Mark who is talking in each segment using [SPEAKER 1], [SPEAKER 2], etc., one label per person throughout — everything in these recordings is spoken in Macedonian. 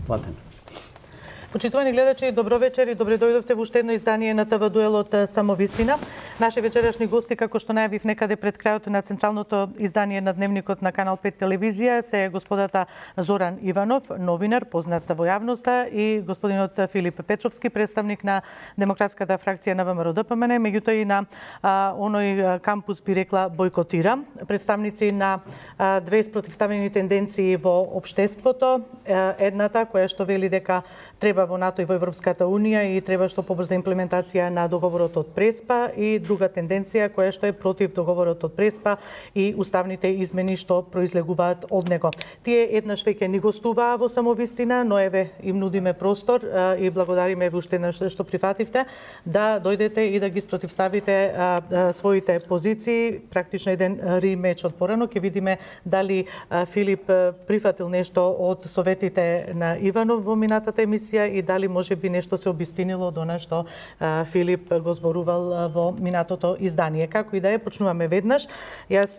[SPEAKER 1] платен.
[SPEAKER 2] Почитувани гледачи, добро вечер и добре дојдовте во уште едно издание на ТВ Дуелот Самовистина. Наши вечерашни гости, како што најавив некаде пред крајот на централното издание на Дневникот на Канал 5 телевизија, се господата Зоран Иванов, новинар, познат во јавноста, и господинот Филип Петровски, представник на демократската фракција на ВМРО-ДПМН, меѓутоа и на оној кампус, би рекла, бойкотира. Представници на две спротивставени тенденции во општеството. Едната, која што вели дека треба во НАТО и во Европската Унија и треба што побрза имплементација на договорот од Преспа, и друга тенденција која што е против договорот од Преспа и уставните измени што произлегуваат од него. Тие еднаш веќе ни гостуваа во Самовистина, но еве им нудиме простор и благодариме ви уште еднаш што прифативте да дојдете и да ги спротивставите своите позиции. Практично еден римеч од порано ќе видиме дали Филип прифатил нешто од советите на Иванов во минатата емисија и дали може би нешто се обистинило од она што Филип го зборувал во минатото издание. Како и да е, почнуваме веднаш. Јас,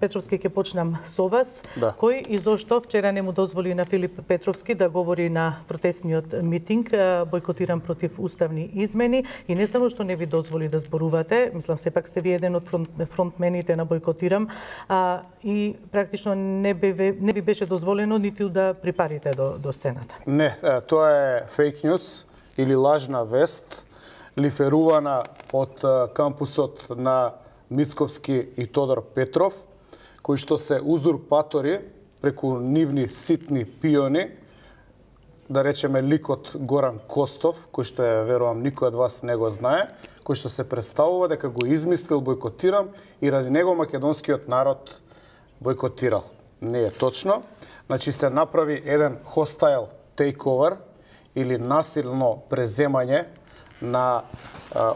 [SPEAKER 2] Петровски, ќе почнам со вас.
[SPEAKER 3] Да.
[SPEAKER 2] Кој и зошто вчера не му дозволи на Филип Петровски да говори на протестниот митинг, бойкотиран против уставни измени, и не само што не ви дозволи да зборувате, мислам сепак сте ви еден од фронтмените на бойкотирам, и практично не ви беше дозволено ниту да припарите до сцената.
[SPEAKER 3] Не, тоа е фейк нюз или лажна вест, лиферувана од кампусот на Мицковски и Тодор Петров, кои што се узурпатори преку нивни ситни пиони, да речеме ликот Горан Костов, кој што верувам никој од вас не го знае, кој што се представува дека го измислил бойкотирам и ради него македонскиот народ бойкотирал. Не е точно. Значи се направи еден hostile takeover или насилно преземање на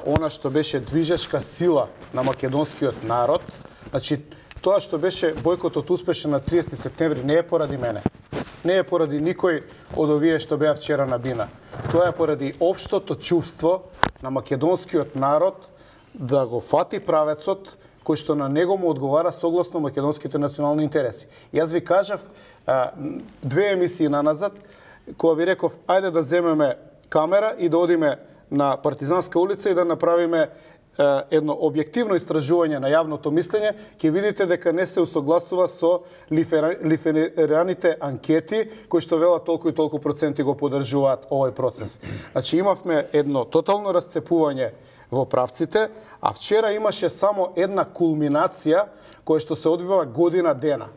[SPEAKER 3] она што беше движечка сила на македонскиот народ. Значи, тоа што беше бојкотот успешен на 30 септември не е поради мене. Не е поради никој од овие што беа вчера на бина. Тоа е поради општото чувство на македонскиот народ да го фати правецот кој што на него му одговара согласно македонските национални интереси. Јас ви кажав две емисии наназад, кога ви реков, ајде да земеме камера и да одиме на Партизанска улица и да направиме едно објективно истражување на јавното мислење, ќе видите дека не се усогласува со лифераните анкети, кои што велат толку и толку проценти го поддржуваат овој процес. Значи имавме едно тотално расцепување во правците, а вчера имаше само една кулминација која што се одвива година дена.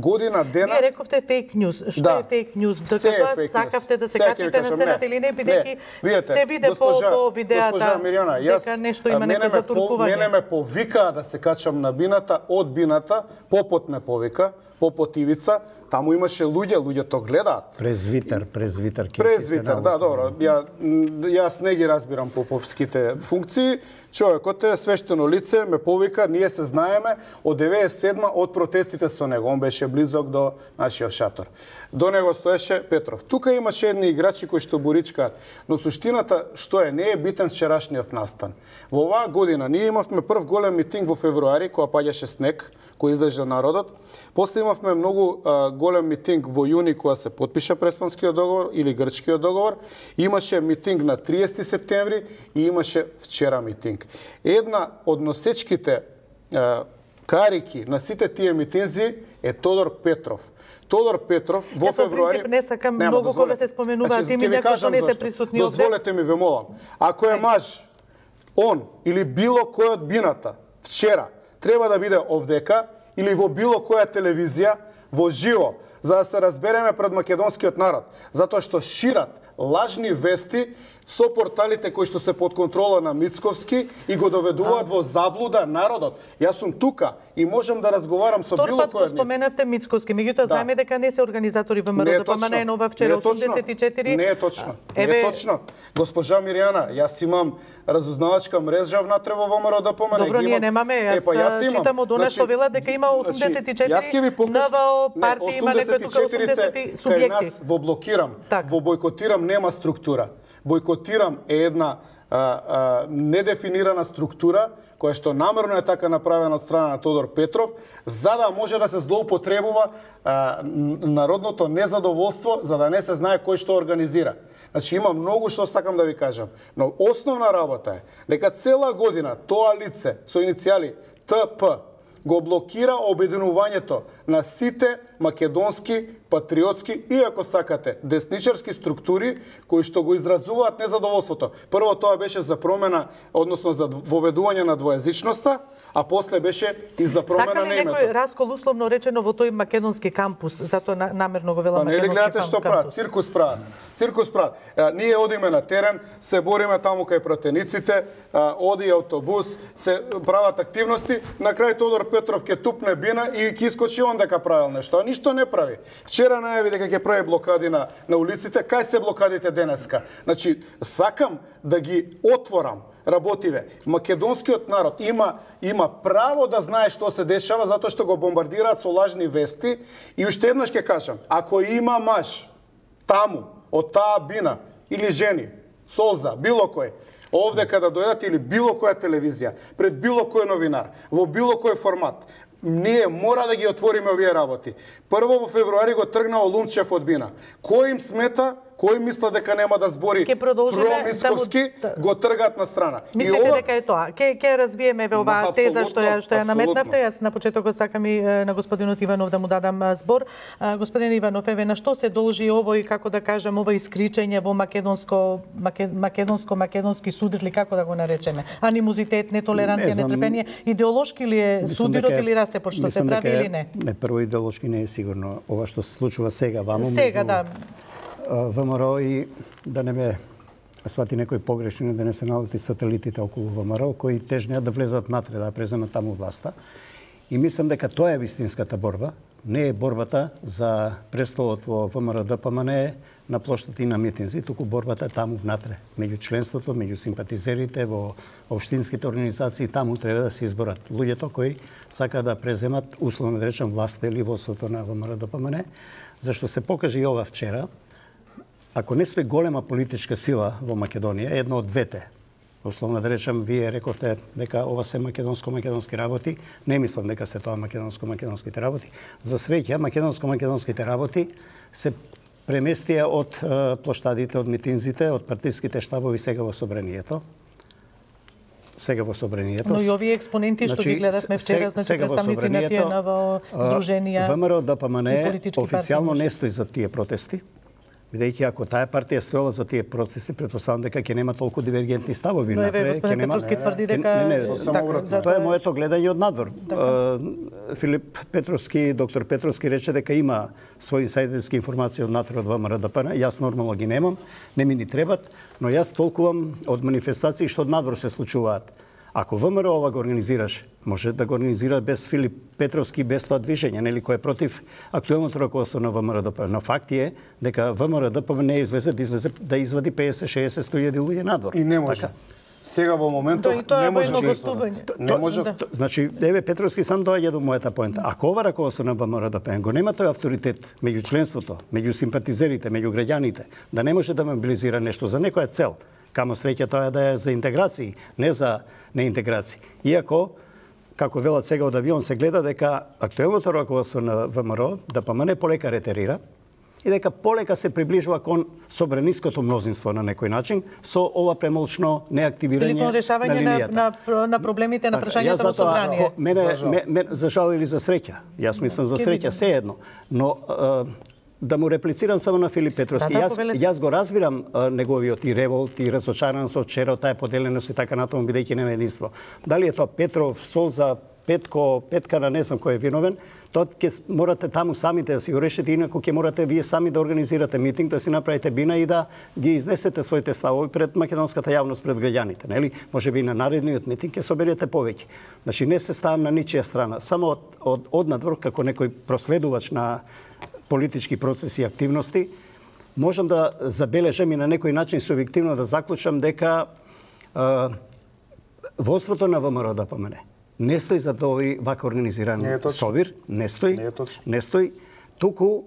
[SPEAKER 2] Вие рековте фейк нюз. Што е фейк нюз? Докато сакавте да се качите на сцената или не, бидејќи се виде по видеата дека нешто има нека затуркување.
[SPEAKER 3] Мене ме повикаа да се качам на бината, од бината, попот ме повика, попот Ивица, таму имаше луѓето гледаат.
[SPEAKER 1] Презвитер.
[SPEAKER 3] Презвитер, да, добро. Јас не ги разбирам поповските функции. Човекот е свештено лице, ме повика, ние се знаеме од 97 од протестите со него. Он беше близок до нашиот шатор. До него стоеше Петров. Тука имаше едни играчи кои што боричкаат, но суштината што е, не е битен вчерашниот настан. Во оваа година ние имавме прв голем митинг во февруари, кога паѓаше снег, кој излежа народот. После имавме многу голем митинг во јуни, кога се потпиша Преспанскиот договор или Грчкиот договор. Имаше митинг на 30 септември и имаше вчера митинг. Една од носечките карики на сите тие митинзи е Тодор Петров. Тодор Петров во февруари...
[SPEAKER 2] Јас не сакам многу кога се споменуваат имиња кои што не се присутни овде.
[SPEAKER 3] Дозволете ми, ве молам. Ако е маж, он или било кој од бината вчера треба да биде овдека или во било која телевизија во живо, за да се разбереме пред македонскиот народ, затоа што шират лажни вести со порталите кои што се под контрола на Мицковски и го доведуваат во заблуда народот. Јас сум тука и можам да разговарам со било кој од нив.
[SPEAKER 2] Споменавте Мицковски, меѓутоа знаеме дека не се организатори ВМРО-ДПМН нова вчера 84.
[SPEAKER 3] Не е точно. Не е точно. Госпожа Мирјана, јас имам разузнавачка мрежа внатре во ВМРО-ДПМН.
[SPEAKER 2] Добро, ние немаме, јас читам од она што велат дека има 84 НВО партии, има некој тука 80 субјекти.
[SPEAKER 3] Кај нас во блокирам, во бойкотирам нема структура. Бойкотирам е една недефинирана структура, која што намерно е така направена од страна на Тодор Петров, за да може да се злоупотребува народното незадоволство, за да не се знае кој што организира. Значи има многу што сакам да ви кажам, но основна работа е дека цела година тоа лице со иницијали ТП го блокира обединувањето на сите македонски, патриотски и, ако сакате, десничарски структури кои што го изразуваат незадоволството. Прво тоа беше за промена, односно за воведување на двојазичноста, а после беше и за промена на името.
[SPEAKER 2] Сака ли некој раскол, условно речено, во тој македонски кампус? Затоа намерно го велам македонски кампус.
[SPEAKER 3] Па не ли гледате што прават? Циркус прават. Циркус прават. Ние одиме на терен, се бориме таму кај пратениците, оди автобус, се прават активности, на крај Тодор Петров ќе тупне бина и ќе искочи он дека правил нешто, а ништо не прави. Вчера најави дека ќе прави блокади на улиците, кај се блокадите денеска? Значи, сакам да ги отворам работиве. Македонскиот народ има право да знае што се дешава затоа што го бомбардираат со лажни вести и уште еднаш ќе кажам, ако има маж таму од таа бина или жени, Солза, било кој, овде када дојдат или било која телевизија, пред било кој новинар, во било кој формат, ние мора да ги отвориме овие работи. Прво во февруари го тргнал Лумчев од бина. Кој им смета? Кој мисла дека нема да збори промицковски, го тргаат на страна.
[SPEAKER 2] Мислите дека е тоа? Ке развиеме во оваа теза што ја наметнавте. Јас на почетокот сакам и на господинот Иванов да му дадам збор. Господин Иванов, еве на што се должи овој, како да кажам, овој искричење во македонски судир или како да го наречеме? Анимозитет, нетолеранција, нетрпение, идеолошки ли е судирот или расепот што се прави или не?
[SPEAKER 1] Не, прво идеолошки не е сигурно ова што се случува сега ваму.
[SPEAKER 2] Сега, да.
[SPEAKER 1] ВМРО и да не ме свати некој погрешно, да не се налути сателитите околу ВМРО, кои тежнеат да влезат натре, да преземат таму власта. И мислам дека тоа е вистинската борба. Не е борбата за престолот во ВМРО ДПМН на плоштати и на митинзи, туку борбата е таму внатре. Меѓу членството, меѓу симпатизерите, во општинските организации, таму треба да се изборат луѓето кои сака да преземат, условно да речем, власта или водството на ВМРО ДПМН, зашто се покажа и ова вчера. Ако не стои голема политичка сила во Македонија, едно од двете, условно да речем, вие рековте дека ова се македонски работи, не мислам дека се тоа македонските работи. За среќа, македонските работи се преместија од плоштадите, од митинзите, од партиските штабови сега во собранието.
[SPEAKER 2] Но и овие експоненти што ги гледавме вчера, значи представници на тие ново здруженија
[SPEAKER 1] ВМРО ДПМН официјално не стои за тие протести. Бидејќи ако таа партија стоела за тие протести, претпоставам дека ќе нема толку дивергентни ставови
[SPEAKER 2] натре, ќе нема. Петровски тврди дека
[SPEAKER 1] тоа е моето гледање од надвор. Филип Петровски, доктор Петровски рече дека има своји инсайдерски информации од натре од ВМРО ДПМН. Јас нормално ги немам, не ми ни требат, но јас толкувам од манифестации што од надвор се случуваат. Ако ВМРО ова го организираш, може да го организира без Филип Петровски, без тоа движење, нели, кој е против актуелното раководство на ВМРО ДПМН. Но факт е дека ВМРО ДПМН не излезе да извади 50-60-100 луѓе надвор.
[SPEAKER 3] И не може. Сега во моментов не може да
[SPEAKER 2] гостување.
[SPEAKER 3] Не може.
[SPEAKER 1] Значи, еве Петровски сам доаѓа до мојата поента. Ако ова раководство на ВМРО ДПМН го нема тој авторитет меѓу членството, меѓу симпатизерите, меѓу граѓаните, да не може да мобилизира нешто за некоја цел, камо среќа тоа да е за интеграции, не за неинтеграции. Иако, како велат сега од авион, се гледа дека актуелното раководство на ВМРО ДПМН полека ретерира и дека полека се приближува кон собраниското мнозинство на некој начин со ова премолчно неактивирање на линијата.
[SPEAKER 2] на проблемите, на прашањата во собрание.
[SPEAKER 1] Мене за жал или за среќа. Јас мислам за среќа, се едно. Но да му реплицирам само на Филип Петровски. Јас го разбирам неговиот и револт и разочараност вчера од таа поделеност и така натаму, бидејќи нема единство. Дали е тоа Петров, Солза, Петка, не знам кој е виновен, тоа ќе морате таму самите да си го решите, инаку ќе морате вие сами да организирате митинг, да си направите бина и да ги изнесете своите ставови пред македонската јавност, пред граѓаните, нели? Можеби на наредниот митинг ќе соберете повеќе. Значи не се ставам на ничија страна, само од надвор како некој проследувач на политички процеси и активности, можам да забележам и на некој начин субјективно да заклучам дека водството на ВМРО ДПМН не стои за овој вака организиран собир, не стои. Туку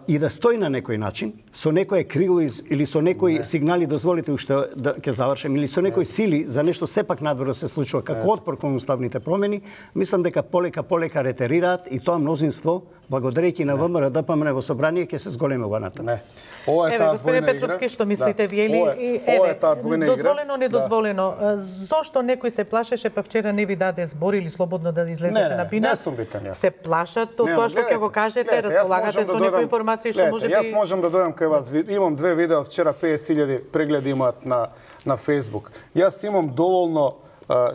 [SPEAKER 1] и да стои на некој начин, со некое крило или со некои сигнали, дозволите уште да ќе завршам, или со некои сили за нешто сепак надвор да се случува како отпор кон уставните промени, мислам дека полека ретерираат и тоа мнозинство, благодарејќи на ВМРО ДПМН во собрание, ќе се зголеми ова натаму.
[SPEAKER 3] Не. Ова е таа
[SPEAKER 2] господин
[SPEAKER 3] двојна
[SPEAKER 2] Петровски,
[SPEAKER 3] игра.
[SPEAKER 2] што мислите вие или
[SPEAKER 3] Ова е таа двојна игра.
[SPEAKER 2] дозволено, недозволено. Зошто некој се плашеше, па вчера не ви даде збор или слободно да излезете на бина?
[SPEAKER 3] Не сум битен јас.
[SPEAKER 2] Се плашат од тоа што ќе го кажете, располагате со некои информации што може би...
[SPEAKER 3] Јас можам да дојдам кај вас. Имам 2 видеа вчера, 50.000 прегледи имаат на Facebook. Јас имам доволно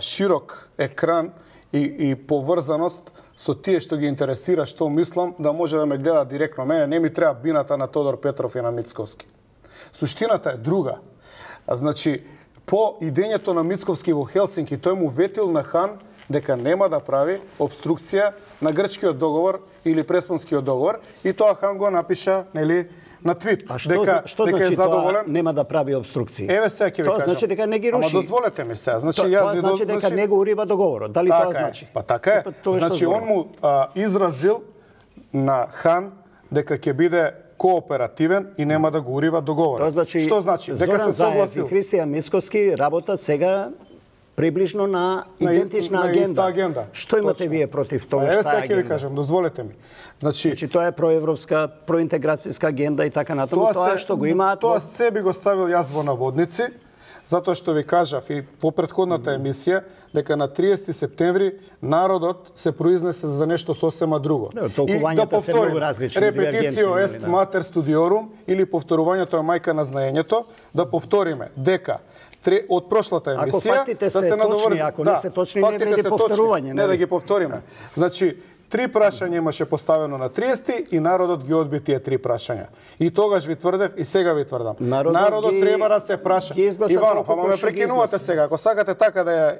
[SPEAKER 3] широк екран и поврзаност со тие што ги интересира што мислам, да може да ме гледа директно. Мене не ми треба бината на Тодор Петров и на Мицковски. Суштината е друга. Значи, по идењето на Мицковски во Хелсинки, тој му ветил на Хан дека нема да прави обструкција на грчкиот договор или преспанскиот договор, и тоа Хан го напиша, нели, на твит, дека
[SPEAKER 1] значи
[SPEAKER 3] е задоволен.
[SPEAKER 1] Тоа нема да прави обструкции?
[SPEAKER 3] Еве сега ќе ви кажам.
[SPEAKER 1] Тоа значи дека не ги руши.
[SPEAKER 3] Ама дозволете ми сега. Значи
[SPEAKER 1] тоа значи дека не го урива договорот. Дали тоа значи?
[SPEAKER 3] Па така е. Значи он му изразил на Хан дека ќе биде кооперативен и нема да го урива договорот.
[SPEAKER 1] Значи,
[SPEAKER 3] што значи? Дека се согласил.
[SPEAKER 1] Зоран Заев и Христијан Мицковски работат сега приближно на идентична агенда. Што имате вие против тоа?
[SPEAKER 3] Еве сега ќе ви кажам, дозволете ми. Значи
[SPEAKER 1] тоа е проевропска, проинтеграцијска агенда и така натаму, тоа што го имаат.
[SPEAKER 3] Тоа се би го ставил јас во наводници, затоа што ви кажав и во претходната емисија дека на 30 септември народот се произнесе за нешто сосема друго.
[SPEAKER 1] И да повторим,
[SPEAKER 3] репетицио ест матер студиорум, или повторувањето е мајка на знаењето, да повториме дека од прошлата емисија,
[SPEAKER 1] ако фактите се точни, ако не се точни, не вреди повторување.
[SPEAKER 3] Не да ги повториме. Значи, 3 прашања имаше поставено на 30 и народот ги одби тие 3 прашања. И тогаш ви тврдев и сега ви тврдам. Народот треба да се праша. Иванов, ама ме прекинувате сега. Ако сакате така да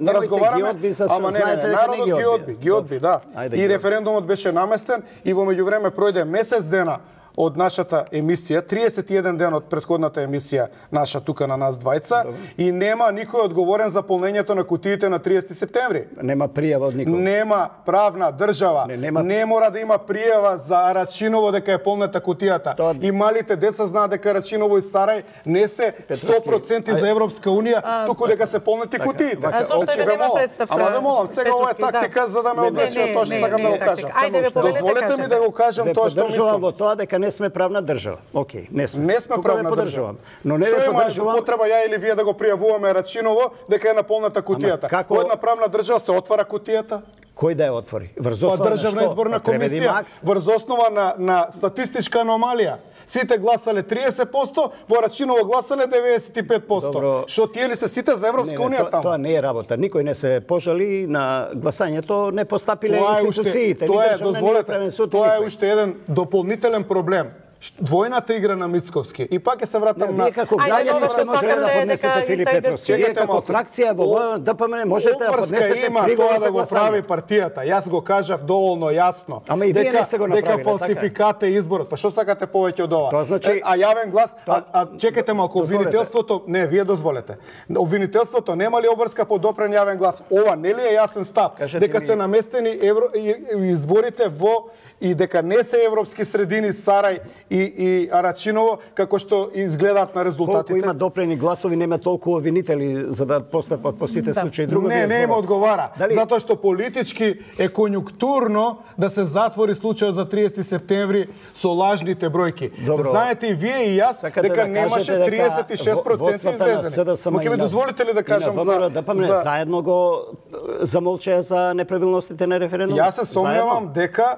[SPEAKER 3] разговараме, ама не, народот ги одби, да. И референдумот беше наместен и во меѓувреме пројде месец дена од нашата емисија, 31 ден од претходната емисија наша тука на нас двајца, и нема никој одговорен за полнењето на кутиите на 30 септември.
[SPEAKER 1] Нема пријава од никој.
[SPEAKER 3] Нема правна држава. Не мора да има пријава за Арачиново дека е полнета кутијата. И малите деца знаат дека Арачиново и Сарај не се 100% за Европска унија, туку дека се полнети кутиите. Ама ве молам, сега ова е тактика за да ме одвлече од тоа што сакам да го кажам. Дозволете ми да го кажам тоа што мислам.
[SPEAKER 1] Не сме правна држава. Океј, не сме.
[SPEAKER 3] Не сме правна држава. Но не ве поддржувам. Потреба ја или вие да го пријавуваме Рачиново дека е наполната кутијата. Во една правна држава се отвара кутијата?
[SPEAKER 1] Кој да ја отвори? Врз основа на
[SPEAKER 3] државна изборна комисија, врз основа на статистичка аномалија. Сите гласале 30%, во Рачиново гласале 95%. Што тие ли се сите за Европска унија таму?
[SPEAKER 1] Тоа не е работа. Никој не се пожали на гласањето, не постапиле институциите.
[SPEAKER 3] Тоа е уште еден дополнителен проблем. Двојната игра на Мицковски. И пак ќе се вратам на...
[SPEAKER 1] Вие како граѓани што можете да поднесете Филип Петровски. Вие како фракција во ДПМН можете да поднесете приговор за
[SPEAKER 3] да го прави партијата. Јас го кажав доволно јасно.
[SPEAKER 1] Ама и вие не сте го направиле,
[SPEAKER 3] дека фалсификат е изборот. Па што сакате повеќе од ова?
[SPEAKER 1] Тоа значи...
[SPEAKER 3] А јавен глас, чекате малку, обвинителството, не, вие дозволете. Обвинителството нема ли обврска по допрен јавен глас? Ова нели е јасен став? Дека се наместени изборите во и дека не се европски средини Сарај и Арачиново, како што изгледаат на резултатите.
[SPEAKER 1] Колку има допрени гласови, нема толку обвинители за да постапат по сите случаи. Друго
[SPEAKER 3] не им одговара. Затоа што политички е конјунктурно да се затвори случајот за 30 септември со лажните бројки. Знаете и вие и јас дека немаше 36% излезени. Мо ќе ми дозволите ли да кажам
[SPEAKER 1] за заедно го замолчеа за неправилностите на референдумот?
[SPEAKER 3] Јас се сомневам дека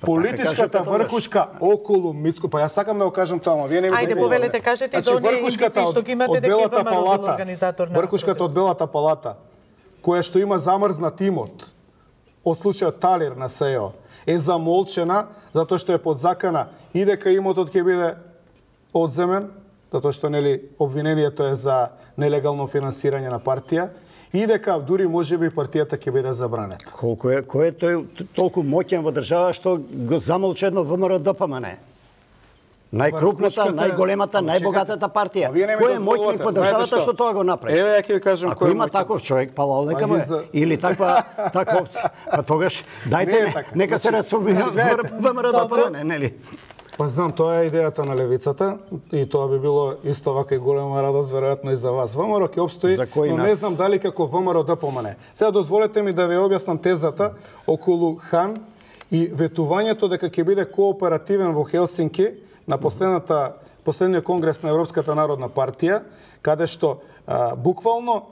[SPEAKER 3] политичката врхушка околу Мицко, па јас сакам да го кажам тоа, ама вие не ми
[SPEAKER 2] дозволите. Ајде, повелете, кажете до оние индици што ги имате дека ВМРО бил организатор на...
[SPEAKER 3] Врхушката од Белата палата, која што има замрзнат имот од случајот Талир на СЕО, е замолчена затоа што е под закана и дека имотот ќе биде одземен, затоа што нели обвинението е за нелегално финансирање на партија, и дека дури можеби партијата ќе биде забранета.
[SPEAKER 1] Кој е тој толку моќен во држава што го замолчи едно ВМРО ДПМН? Најкрупната, најголемата, најбогатата партија. Кој е моќник во државата што тоа го направи?
[SPEAKER 3] Еве ја ќе ви кажам кој е.
[SPEAKER 1] Ако има таков човек, палал нека му е. Или таква опција. Па тогаш дајте нека се расформира ВМРО ДПМН, нели?
[SPEAKER 3] Па знам, тоа е идејата на левицата и тоа би било исто вака и голема радост веројатно и за вас. ВМРО ќе обстои, но не знам дали како ВМРО да помане. Сега дозволете ми да ви објаснам тезата околу Хан и ветувањето дека ќе биде кооперативен во Хелсинки на последниот конгрес на Европската народна партија, каде што буквално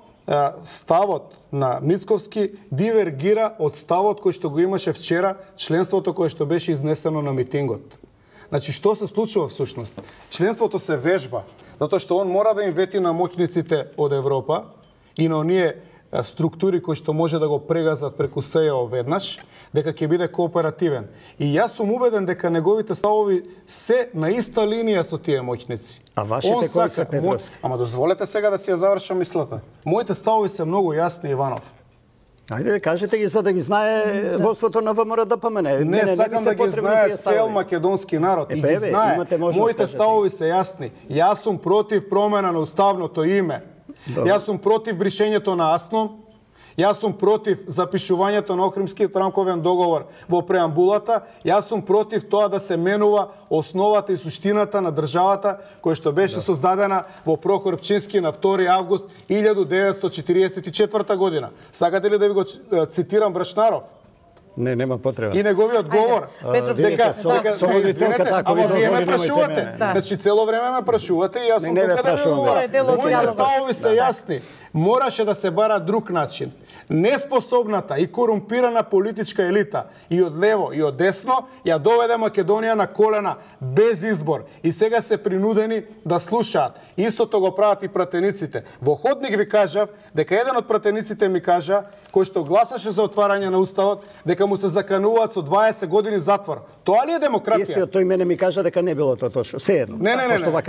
[SPEAKER 3] ставот на Мицковски дивергира од ставот кој што го имаше вчера, членството кое што беше изнесено на митингот. Значи, што се случува всушност? Членството се вежба, затоа што он мора да им вети на моќниците од Европа и на оние структури кои што може да го прегазат преку СЈО веднаш, дека ќе биде кооперативен. И јас сум убеден дека неговите ставови се на иста линија со тие моќници.
[SPEAKER 1] А вашите кои се, Петровски?
[SPEAKER 3] Ама дозволете сега да си ја завршам мислата. Моите ставови се многу јасни, Иванов.
[SPEAKER 1] Ајде, кажете ги за да ги знае водството на ВМРО да помене.
[SPEAKER 3] Не сакам да ги знае цел македонски народ и ги знае. Моите ставови се јасни. Јас сум против промена на уставното име. Јас сум против бришењето на АСНОМ. Јас сум против запишувањето на Охримскиот рамковен договор во преамбулата. Јас сум против тоа да се менува основата и суштината на државата која што беше создадена во Прохор Пчински на 2 август 1944 година. Сакате ли да ви го цитирам Брашнаров?
[SPEAKER 1] Не, нема потреба.
[SPEAKER 3] И неговиот говор.
[SPEAKER 1] Дека
[SPEAKER 3] ама вие ме прашувате. Значи цело време ме прашувате и јас сум тука да ви говорам. Моите ставови се јасни. Мораше да се бара друг начин. Неспособната и корумпирана политичка елита и од лево и од десно ја доведе Македонија на колена без избор и сега се принудени да слушаат. Истото го прават и пратениците. Во ходник ви кажав дека еден од пратениците ми кажа кој што гласаше за отварање на уставот дека му се закануваат со 20 години затвор. Тоа ли е демократија?
[SPEAKER 1] Истиот тој мене ми кажа дека не било тоа точно. Сеедно.
[SPEAKER 3] Не.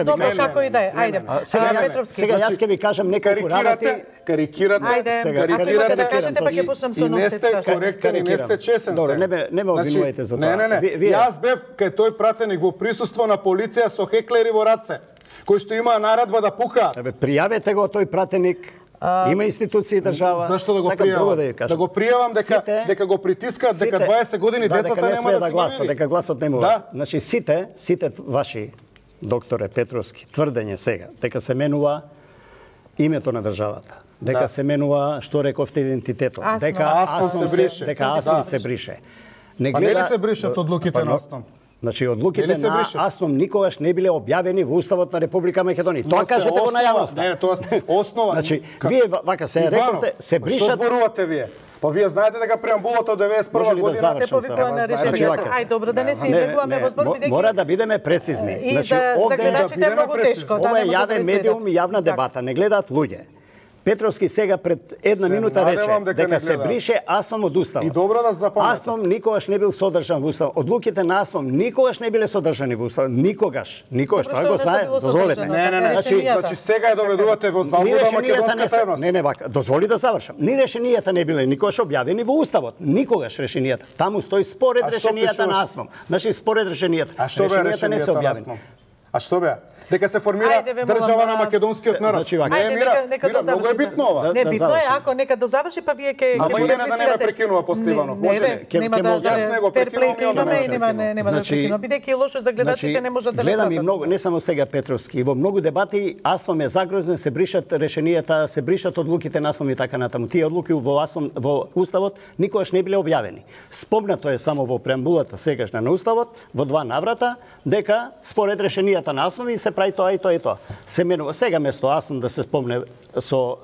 [SPEAKER 2] Добро, како и да е. Ајде.
[SPEAKER 1] Сега јас ќе ви кажам неколку работи.
[SPEAKER 3] Карикирате,
[SPEAKER 2] кажете, па ќе почнам со
[SPEAKER 3] и не сте коректен и не сте чесен.
[SPEAKER 1] Добро, не ме обвинувате за тоа.
[SPEAKER 3] Не. Јас бев кај тој пратеник во присуство на полиција со хеклери во раце, кои што имаа наредба да пукаат.
[SPEAKER 1] Пријавете го тој пратеник. Има институции држава.
[SPEAKER 3] Зашто да го пријавам? Да го пријавам дека го притискаат, дека 20 години децата нема да се
[SPEAKER 1] гласат, дека гласот нема.
[SPEAKER 3] Да.
[SPEAKER 1] Значи сите ваши, докторе Петровски, тврдење сега дека се менува името на државата, дека се менува, што рековте, идентитетот, дека АСНОМ се брише.
[SPEAKER 3] Не ли се бришат одлуките на АСНОМ?
[SPEAKER 1] Значи, одлуките на АСНОМ никогаш не биле објавени во Уставот на Република Македонија. Тоа кажете го на јавноста.
[SPEAKER 3] Не, тоа е основа.
[SPEAKER 1] Значи, вие вака се рековте, се бришат.
[SPEAKER 3] Што зборувате вие? Па вие знаете дека преамбулата од 91 година
[SPEAKER 2] се повикува на решението. Ај, добро, да не се излегуваме во збор, бидејќи
[SPEAKER 1] мора да бидеме прецизни.
[SPEAKER 2] Значи, за гледачите е многу тешко.
[SPEAKER 1] Ова е јавен медиум и јавна дебата, не гледаат луѓе. Петровски сега пред една минута рече дека се брише АСНОМ од Уставот.
[SPEAKER 3] И добро да запамтите.
[SPEAKER 1] АСНОМ никогаш не бил содржан во Уставот. Одлуките на АСНОМ никогаш не биле содржани во Уставот. Никогаш. Тоа го знае. Дозволете.
[SPEAKER 3] Не. Значи сега ја доведувате во заблуда македонската јавност.
[SPEAKER 1] Не, вака. Дозволи да завршам. Ни решенијата не биле никогаш објавени во Уставот. Никогаш решенијата. Таму стои според решенијата на АСНОМ. Значи според решенијата.
[SPEAKER 3] Решенијата не се објавени. А што беа? Дека се формира држава на македонскиот народ. Мира, многу е битно ова.
[SPEAKER 2] Не, битно е, ако нека да заврши, па вие ќе
[SPEAKER 3] Ама Илена да не ме прекинува после Иванов. Може?
[SPEAKER 2] Нема да
[SPEAKER 3] Јас не го прекинувам и она
[SPEAKER 2] нема да прекинува. Бидејќи лошо за гледачите не може да
[SPEAKER 1] гледам и многу, не само сега Петровски, во многу дебати АСНОМ е загрозен, се бришат решенијата, се бришат одлуките на АСНОМ и така натаму. Тие одлуки во АСНОМ во Уставот никогаш не биле објавени. Спомнато е само во преамбулата сегашна на Уставот во 2 наврата дека според решенијата на АСНОМ и се прави тоа и тоа и тоа. Се менува сега место АСНОМ да се спомне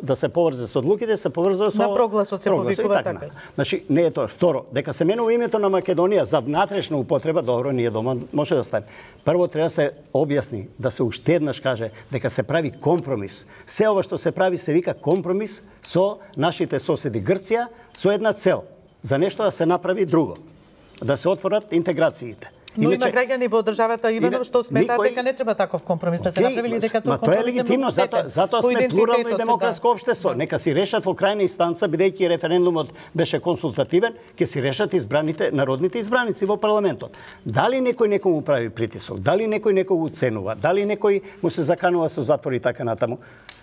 [SPEAKER 1] да се поврзе со одлуките, се поврзува со
[SPEAKER 2] на прогласот се повикува така.
[SPEAKER 1] Значи не е тоа. Второ, дека се менува името на Македонија за внатрешна употреба, добро, ние дома може да стане. Прво треба да се објасни, да се уште еднаш каже дека се прави компромис. Се ова што се прави се вика компромис со нашите соседи Грција со една цел, за нешто да се направи друго, да се отворат интеграциите.
[SPEAKER 2] Но има граѓани во државата Иванов што сметаат дека не треба таков компромис да се направи или дека тоа компромис
[SPEAKER 1] е легитимно, затоа сме плурално и демократско општество. Нека си решат во крајна инстанца, бидејќи референдумот беше консултативен, ќе си решат избраните народните избраници во парламентот. Дали некој некому прави притисок, дали некој некого уценува, дали некој му се заканува со затвор и така натаму,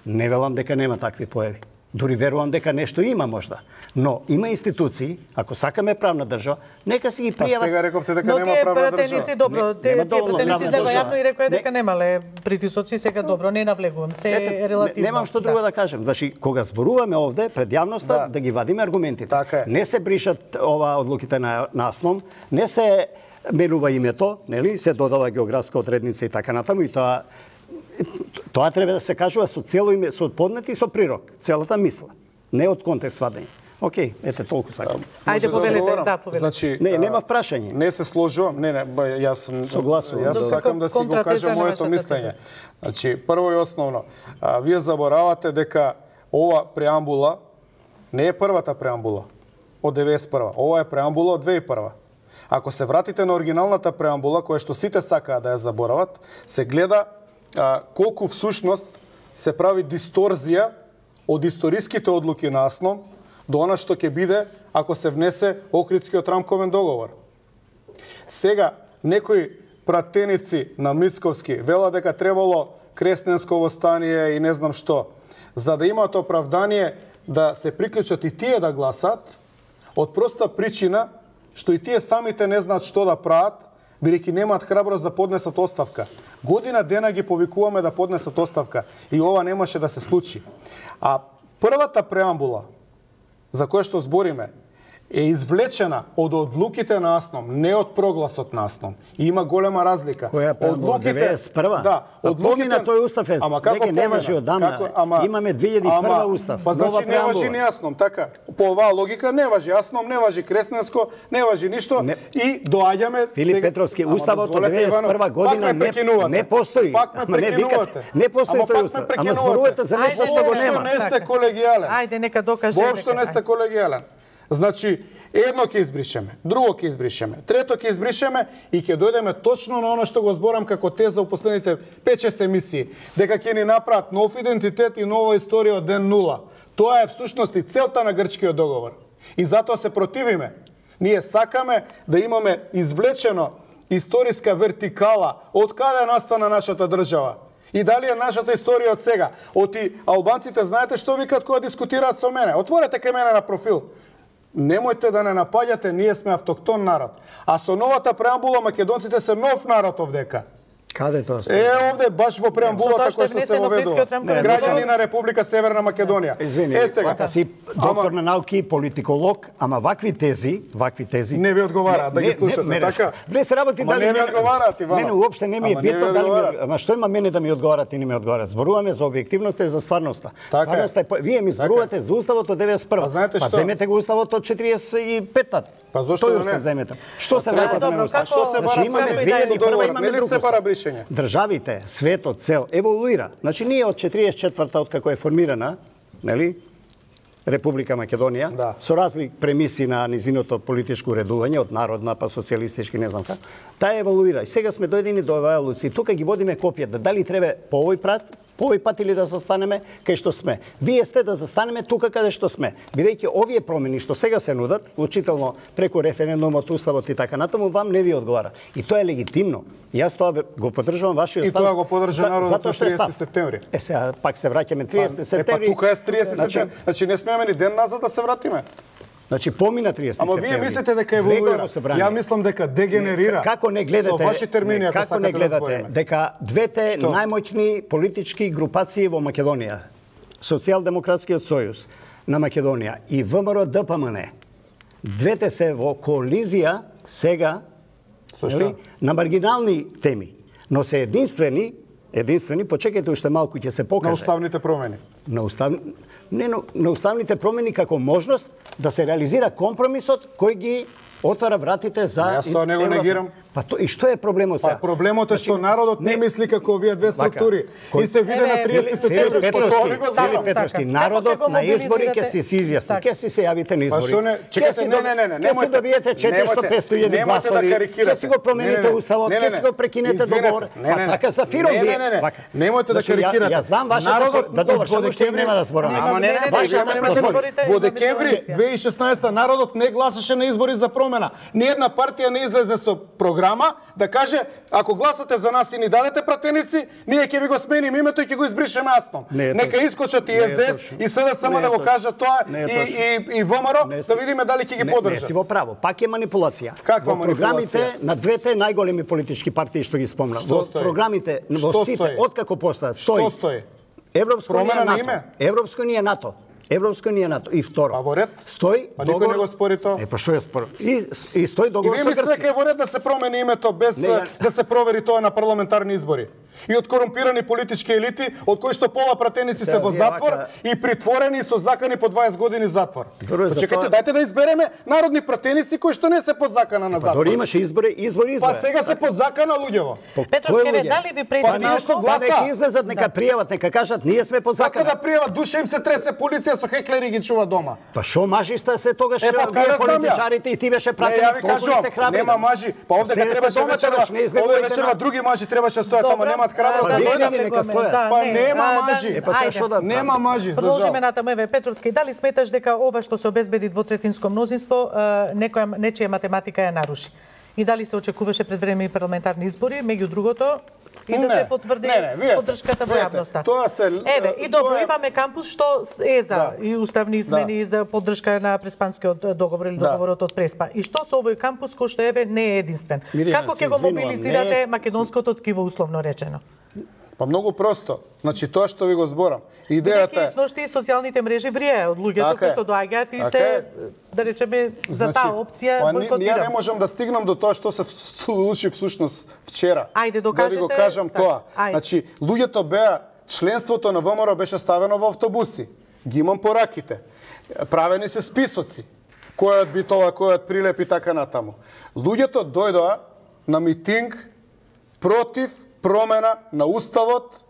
[SPEAKER 1] не велам дека нема такви појави. Дури верувам дека нешто има можда. Но има институции, ако сакаме правна држава, нека си ги пријават.
[SPEAKER 3] Сега рековте дека нема правна држава.
[SPEAKER 2] Добро, тие пратеници излега јавно и рекоа дека немале притисоци, сега добро, не навлегувам, се е релативно.
[SPEAKER 1] Немам што друго да кажем. Значи, кога зборуваме овде пред јавноста, да ги вадиме аргументите. Не се бришат ова одлуките на АСНОМ, не се менува името, нели, се додава географска одредница и така натаму, и тоа треба да се кажува со цело име, со поднет и со прирок, целата мисла, не од контекст вадење. Океј, ете толку сакам.
[SPEAKER 2] Ајде повелете, да, повелете.
[SPEAKER 3] Значи,
[SPEAKER 1] нема прашање.
[SPEAKER 3] Не се сложувам, јас
[SPEAKER 1] согласувам.
[SPEAKER 3] Јас сакам да си го кажам моето мислење. Значи, прво и основно, вие заборавате дека ова преамбула не е првата преамбула од 91-а. Ова е преамбула од 2001-а. Ако се вратите на оригиналната преамбула, која што сите сакаат да ја заборават, се гледа колку всушност се прави дисторзија од историските одлуки на АСНОМ до она што ќе биде ако се внесе Охридскиот рамковен договор. Сега, некои пратеници на Мицковски вела дека требало Кресненско востание и не знам што, за да имаат оправдание да се приклучат и тие да гласат, од проста причина што и тие самите не знаат што да прават, бидејќи немаат храброст да поднесат оставка. Година дена ги повикуваме да поднесат оставка и ова немаше да се случи. А првата преамбула за која што збориме е извлечена од одлуките на АСНОМ, не од прогласот на АСНОМ. И има голема разлика.
[SPEAKER 1] Која преамбула? 91-а?
[SPEAKER 3] Да,
[SPEAKER 1] помина тој устав е. Дека не важи одамна. Имаме 2001 устав.
[SPEAKER 3] Па значи не важи ни АСНОМ, така. По оваа логика не важи АСНОМ, не важи Кресненско, не важи ништо и доаѓаме
[SPEAKER 1] Филип Петровски, уставот од 91 година не постои.
[SPEAKER 3] Пак ме прекинувате.
[SPEAKER 1] Не постои тој устав. Ама зборувате за нешто што го нема.
[SPEAKER 3] Не сте колегијален.
[SPEAKER 2] Ајде нека докаже.
[SPEAKER 3] Воопшто не сте колегијален. Значи, едно ќе избришеме, друго ќе избришеме, трето ќе избришеме и ќе дојдеме точно на оно што го зборам како теза у последните 5-6 емисии, дека ќе ни направат нов идентитет и нова историја од ден нула. Тоа е всушност и целта на Грчкиот договор. И затоа се противиме. Ние сакаме да имаме извлечено историска вертикала од каде настана нашата држава. И дали е нашата историја од сега. Оти албанците знаете што викат кога дискутираат со мене? Отворете кај мене на профил. Немојте да не напаѓате, ние сме автоктон народ. А со новата преамбула македонците се нов народ овдека.
[SPEAKER 1] Каде тоа се?
[SPEAKER 3] Овде баш во преамбулата која што се воведува. Граѓани на Република Северна Македонија.
[SPEAKER 1] Извини, вака си доктор на науки, политиколог, ама вакви тези
[SPEAKER 3] не ви одговараат да ги слушате, така?
[SPEAKER 1] Не се работи дали
[SPEAKER 3] не одговараат, Ивано.
[SPEAKER 1] Мене уопште не ми е битно дали ми, ама што има мене да ми одговарат и не ми одговарат. Зборуваме за објективноста и за стварноста. Стварноста е, вие ми зборувате за уставот од 91. Па земете го уставот од 45-та.
[SPEAKER 3] Па зошто не
[SPEAKER 1] земете? Што се враќате на устав?
[SPEAKER 3] Што се бара
[SPEAKER 1] имаме 2001 имаме друг устав.
[SPEAKER 3] бришење.
[SPEAKER 1] Државите, светот, цел еволуира. Значи ние од 44-та од како е формирана, нели? Република Македонија, со разлик премиси на низиното политичко уредување, од народна па социјалистички, не знам како, таа еволуира. И сега сме дојдени до оваа луци. Тука ги водиме копијата. Дали треба по овој пат или да застанеме кај што сме. Вие сте да застанеме тука каде што сме. Бидејќи овие промени што сега се нудат, вклучително преку референдумот, уставот и така натаму, вам не ви одговара. И тоа е легитимно. Јас тоа го поддржувам вашиот став.
[SPEAKER 3] И тоа го поддржа народот на 30 септември.
[SPEAKER 1] Сега пак се враќаме 30 септември.
[SPEAKER 3] Па тука е 30 септември. Значи не смееме ни ден назад да се вратиме.
[SPEAKER 1] Значи помина 30 септември.
[SPEAKER 3] Ама вие мислите дека еволуира. Ја мислам дека дегенерира.
[SPEAKER 1] Како не гледате?
[SPEAKER 3] Со ваши термини, ако
[SPEAKER 1] како не гледате дека двете најмоćни политички групации во Македонија, Социјалдемократскиот сојуз на Македонија и ВМРО ДПМН, двете се во коализија сега на маргинални теми, но се единствени, почекајте уште малку ќе се покаже.
[SPEAKER 3] На уставните промени.
[SPEAKER 1] На уставните промени како можност да се реализира компромисот кој ги отвара вратите за
[SPEAKER 3] Јас тоа не го негирам.
[SPEAKER 1] Па и што е проблемот сега?
[SPEAKER 3] Па проблемот е што народот не мисли како овие две структури. И се виде на 30 септември.
[SPEAKER 1] Филип Петровски, народот на избори ќе се изјасни. Ќе си се јавите на избори. Ќе се добиете 400-500 гласови. Ќе си го промените уставот, ќе си го прекинете договор. Па така за фиром вие.
[SPEAKER 3] Немојте да карикирате.
[SPEAKER 1] Јас знам вашата да довршам, уште нема да зборуваме.
[SPEAKER 3] Во декември 2016 народот не гласаше на избори за промена. Ниедна партија не излезе со програма да каже ако гласате за нас и ни дадете пратеници, ние ќе ви го смениме името и ќе го избришеме јасно. Нека искочат и СДС и СДСМ да го кажат тоа и ВМРО да видиме дали ќе ги поддржат.
[SPEAKER 1] Не си во право, пак е манипулација.
[SPEAKER 3] Каква
[SPEAKER 1] манипулација? Програмите на двете најголеми политички партии што ги спомнав. Програмите во сите откако постаат стои. Европско уније НАТО. Европско уније НАТО. И второ.
[SPEAKER 3] А во ред?
[SPEAKER 1] Стои
[SPEAKER 3] договор. Никој не го спори тоа.
[SPEAKER 1] Па што ја спори? И стои договор со Грција.
[SPEAKER 3] И вие мислите дека е во ред да се промени името без да се провери тоа на парламентарни избори? И од корумпирани политички елити, од кои што пола пратеници се во затвор и притворени и со закани по 20 години затвор. Чекајте, дајте да избереме народни пратеници кои што не се под закана на затвор.
[SPEAKER 1] Дори имаше избори.
[SPEAKER 3] Па сега се под закана луѓево.
[SPEAKER 2] Петровски, дали ви пречи
[SPEAKER 3] малку? Па
[SPEAKER 1] нека излезат, нека пријават, нека кажат ние сме под закана.
[SPEAKER 3] Како да пријават, душа им се тресе, полиција со хеклери ги чува дома.
[SPEAKER 1] Па шо мажиста се тогаш политичарите и ти беше пратеник, толку сте храбри.
[SPEAKER 3] Нема мажи, па овде требаше вечерва други мажи требаше стојат, ама немаат храброст да дојдат. Па нема мажи. Нема мажи, за жал.
[SPEAKER 2] Продолжиме натаму, еве Петровски, дали сметаш дека ова што се обезбеди двотретинско мнозинство нечија математика ја наруши? И дали се очекуваше предвремени парламентарни избори, меѓу другото, и да се потврди поддршката во јавноста. Еве, и добро, имаме кампус што е за и уставни измени за поддршка на Преспанскиот договор или договорот од Преспа. И што со овој кампус кој што еве не е единствен? Како ќе го мобилизирате македонското ткиво условно речено?
[SPEAKER 3] Па многу просто. Значи тоа што ви го зборам. Идејата е
[SPEAKER 2] сношти социјалните мрежи врие од луѓето кои што доаѓаат и се да речеме за таа опција бойкотирам.
[SPEAKER 3] Ја не можам да стигнам до тоа што се случи всушност вчера.
[SPEAKER 2] Ајде
[SPEAKER 3] да ви го кажам тоа. Значи луѓето беа членството на ВМРО беше ставено во автобуси. Ги имам пораките. Правени се списоци. Којот би тоа, којот прилепи така натаму. Луѓето дојдоа на митинг против промена на уставот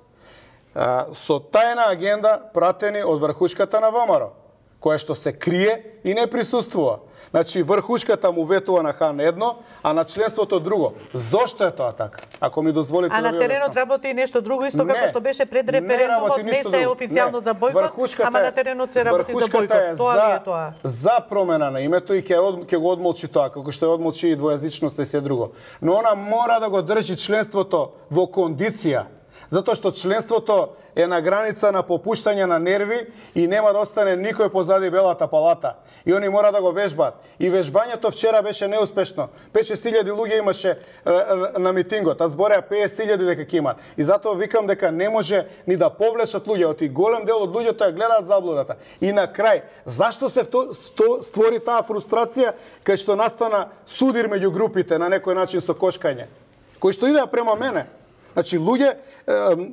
[SPEAKER 3] со тајна агенда пратени од врхушката на ВМРО, која што се крие и не присуствува. Значи врхушката му ветува на хан едно, а на членството друго. Зошто е тоа така? Ако ми дозволите да ви
[SPEAKER 2] објаснам. А на теренот работи нешто друго исто како што беше пред референдумот, не се е официјално за бойкот, ама на теренот се работи за бойкот. Тоа е тоа.
[SPEAKER 3] За промена на името и ќе го одмолчи тоа, како што ја одмолчи и двојазичноста и се друго. Но она мора да го држи членството во кондиција. Затоа што членството е на граница на попуштање на нерви и нема да остане никој позади белата палата. И они мора да го вежбаат. И вежбањето вчера беше неуспешно. 5-6 луѓе имаше на митингот, а збореа 50.000 дека ќе имаат. И затоа викам дека не може ни да повлечат луѓето. И голем дел од луѓето ја гледаат заблудата. И на крај, зашто се створи таа фрустрација кај што настана судир меѓу групите на некој начин со кошкање, кој што идеа према мене. Значи луѓе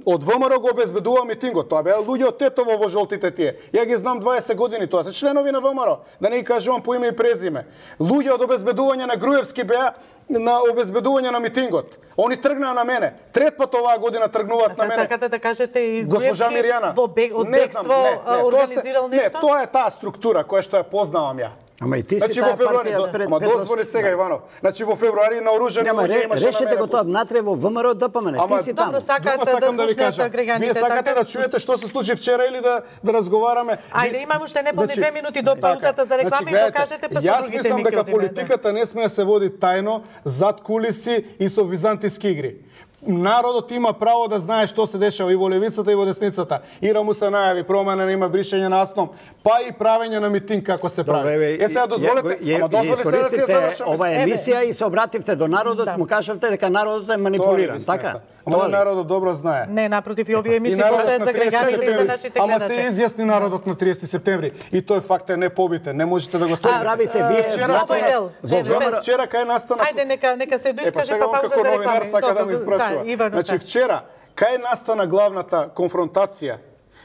[SPEAKER 3] од ВМРО го обезбедува митингот. Тоа беа луѓе од Тетово во жолтите тие. Ја ги знам 20 години, тоа се членови на ВМРО. Да не ги кажувам по име и презиме. Луѓе од обезбедување на Груевски беа на обезбедување на митингот. Они тргнаа на мене. Трет пат оваа година тргнуваат на мене.
[SPEAKER 2] Сакате да кажете и
[SPEAKER 3] госпожа Мирјана
[SPEAKER 2] од бегство организирал нешто?
[SPEAKER 3] Не, тоа е таа структура која што ја познавам ја.
[SPEAKER 1] Ама и ти си таа партија.
[SPEAKER 3] Ама дозволи сега Иванов. Значи во февруари наоружени луѓе имаше на мене.
[SPEAKER 1] Решете го тоа внатре во ВМРО ДПМН. Ти си таму.
[SPEAKER 3] Сакам да ви кажам. Вие сакате да чуете што се случи вчера или да разговараме?
[SPEAKER 2] Ајде, имаме уште неполни 2 минути до паузата за реклами и да кажете па со другите.
[SPEAKER 3] Јас мислам дека политиката не сме да се води тајно, зад кулиси и со византиски игри. Народот има право да знае што се дешава и во левицата и во десницата. Ира му се најави промена, има бришење на АСНОМ, па и правење на митинг како се прави.
[SPEAKER 1] Сега
[SPEAKER 3] дозволете, ама дозволи се да се завршам.
[SPEAKER 1] Ова емисија и се обративте до народот, му кажавте дека народот е манипулиран, така?
[SPEAKER 3] Ама народот добро знае.
[SPEAKER 2] Не, напротив, и овие емисии постојат за граѓаните и за нашите гледачи.
[SPEAKER 3] Ама се изјасни народот на 30 септември и тој факт е непобитен. Не можете да го
[SPEAKER 1] правите вие
[SPEAKER 3] вчера кај настана.
[SPEAKER 2] Ајде нека се доискаже па пауза за реклами.
[SPEAKER 3] Сака да ме испрашува. Значи вчера кај настана главната конфронтација?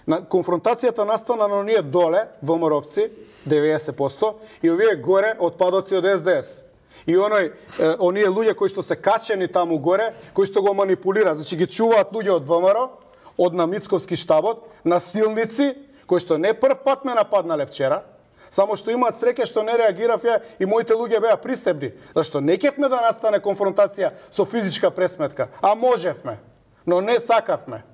[SPEAKER 3] Конфронтацијата настана на оние доле, ВМРО-вци, 90%, и овие горе отпадоци од СДС. И оние луѓе кои што се качени таму горе, кои што го манипулираат, значи ги чуваат луѓе од ВМРО, од на Мицковски штабот, насилници, кои што не прв пат ме нападнале вчера, само што имаат среќа што не реагирав ја и моите луѓе беа присебни, зашто не кевме да настане конфронтација со физичка пресметка, а можевме, но не сакавме.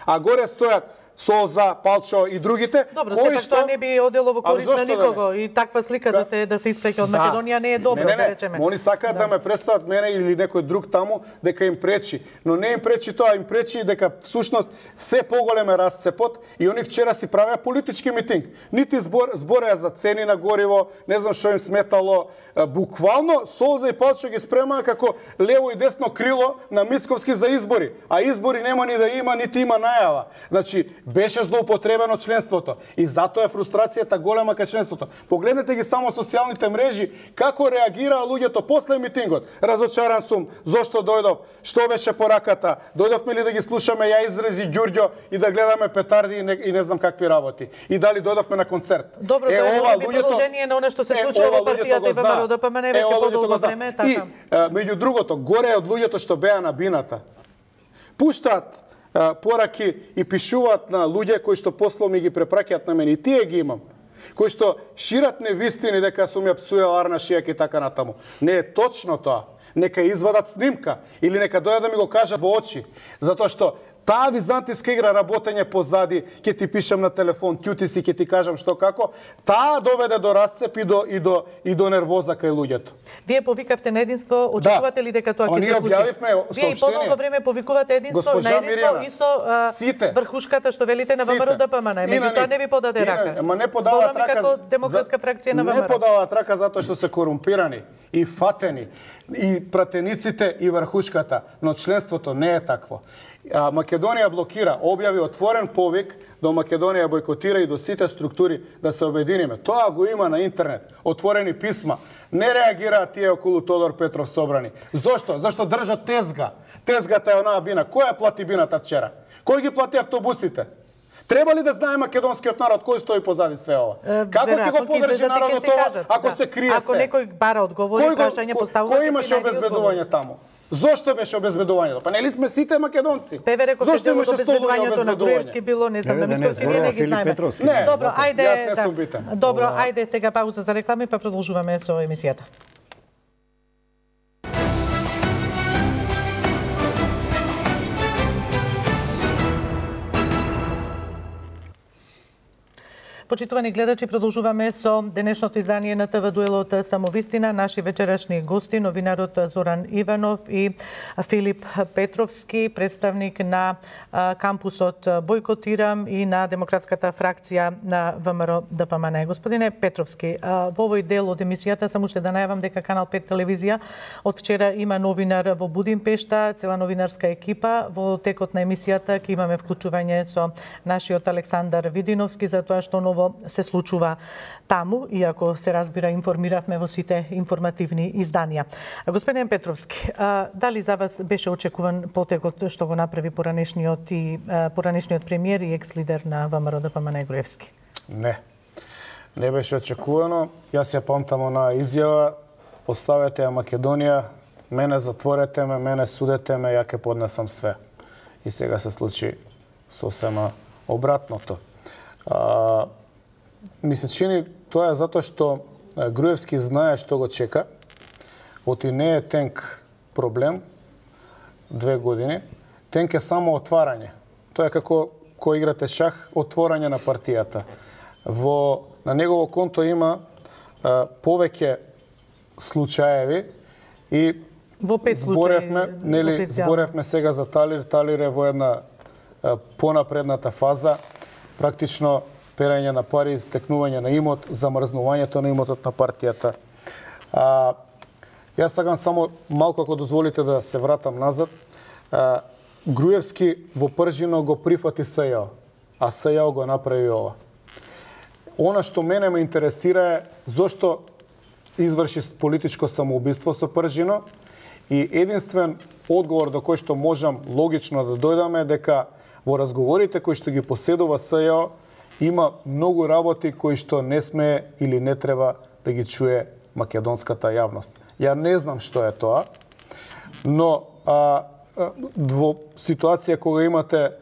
[SPEAKER 3] А горе стојат Солза, Палчо и другите,
[SPEAKER 2] Добро, сепак тоа не би одело во корист на никого и таква слика да се испреќа од Македонија не е добро, да речеме.
[SPEAKER 3] Они сакаат да ме представат мене или некој друг таму дека им пречи, но не им пречи тоа, им пречи дека всушност се поголем е расцепот и они вчера си правеа политички митинг. Нити збореа за цени на гориво, не знам што им сметало, буквално Солза и Палчо ги спремаа како лево и десно крило на Мицковски за избори, а избори нема ни да има, нити има најава. Значи, беше злоупотребено членството и затоа е фрустрацијата голема кај членството. Погледнете ги само социјалните мрежи како реагираа луѓето после митингот. Разочаран сум, зошто дојдов, што беше пораката, дојдовме ли да ги слушаме ја изрази Ѓурѓо и да гледаме петарди и не знам какви работи. И дали дојдовме на концерт.
[SPEAKER 2] Добро, тоа е продолжение на она што се случува во партијата и ВМРО ДПМН веќе подолго време, така.
[SPEAKER 3] И меѓу другото, горе од луѓето што беа на бината, пуштаат пораки и пишуваат на луѓе кои што после ми ги препраќаат на мене. И тие ги имам. Кои што шират невистини дека сум ја псуел Арна Шијак и така натаму. Не е точно тоа. Нека извадат снимка или нека дојдат да ми го кажат во очи. Затоа што таа византиска игра работење позади, ќе ти пишам на телефон, ќути си, ќе ти кажам што како, таа доведе до расцеп и до нервоза кај луѓето.
[SPEAKER 2] Вие повикавте на единство, очекувате ли дека тоа ќе се случи? Вие и подолго време повикувате единство на единство и со врхушката што велите на ВМРО ДПМН. Меѓутоа не ви подаде рака.
[SPEAKER 3] Ама не подаваат рака
[SPEAKER 2] како демократска фракција на ВМРО.
[SPEAKER 3] Не подаваат рака затоа што се корумпирани и фатени и пратениците и врхушката, но членството не е такво. Македонија блокира, објави отворен повик до Македонија бойкотира и до сите структури да се обединиме. Тоа го има на интернет, отворени писма. Не реагираат тие околу Тодор Петров собрани. Зошто? Зашто држат тезга. Тезгата е онаа бина. Кој ја плати бината вчера? Кој ги плати автобусите? Треба ли да знае македонскиот народ кој стои позади све ова? Како ќе го подржи народот ова ако се крие се?
[SPEAKER 2] Ако некој бара одговори, прашање поставува,
[SPEAKER 3] кој имаше обезбедување таму? Зошто беше обезбедувањето? Па нели сме сите македонци?
[SPEAKER 2] Певе реков зошто имаше обезбедувањето на Груевски било, не знам, на Мицковски не ги знаеме. Добро, ајде.
[SPEAKER 3] Јас не сум битен.
[SPEAKER 2] Добро, ајде сега пауза за реклами, па продолжуваме со емисијата. Почитувани гледачи, продолжуваме со денешното издание на ТВ Дуелот Самовистина. Наши вечерашни гости, новинарот Зоран Иванов и Филип Петровски, представник на кампусот Бојкотирам и на демократската фракција на ВМРО ДПМН. Господине Петровски, во овој дел од емисијата само уште да најавам дека Канал 5 телевизија од вчера има новинар во Будимпешта, цела новинарска екипа. Во текот на емисијата ќе имаме вклучување со нашиот Александар Видиновски за тоа што ново се случува таму, иако се разбира информиравме во сите информативни изданија. Господин Петровски, дали за вас беше очекуван потекот што го направи поранешниот премиер и екс-лидер на ВМРО ДПМН Груевски?
[SPEAKER 3] Не. Не беше очекувано. Јас ја памтам на изјава: оставете ја Македонија, мене затворете ме, мене судете ме, ја ќе поднесам све. И сега се случи сосема обратното. Ми се чини тоа е затоа што Груевски знае што го чека. Оти не е тенк проблем 2 години. Тенк е само отварање. Тоа е како кој играте шах, отворање на партијата. На негово конто има повеќе случаеви и зборевме сега за Талир. Талир е во една понапредната фаза, практично перање на пари, стекнување на имот, замрзнувањето на имотот на партијата. Јас сакам само малку, ако дозволите, да се вратам назад. Груевски во пржино го прифати СЈО, а СЈО го направи ова. Она што мене ме интересира е зошто изврши политичко самоубиство со пржино и единствен одговор до кој што можам логично да дојдаме е дека во разговорите кои што ги поседува СЈО има многу работи кои што не сме или не треба да ги чуе македонската јавност. Ја не знам што е тоа, но во ситуација кога имате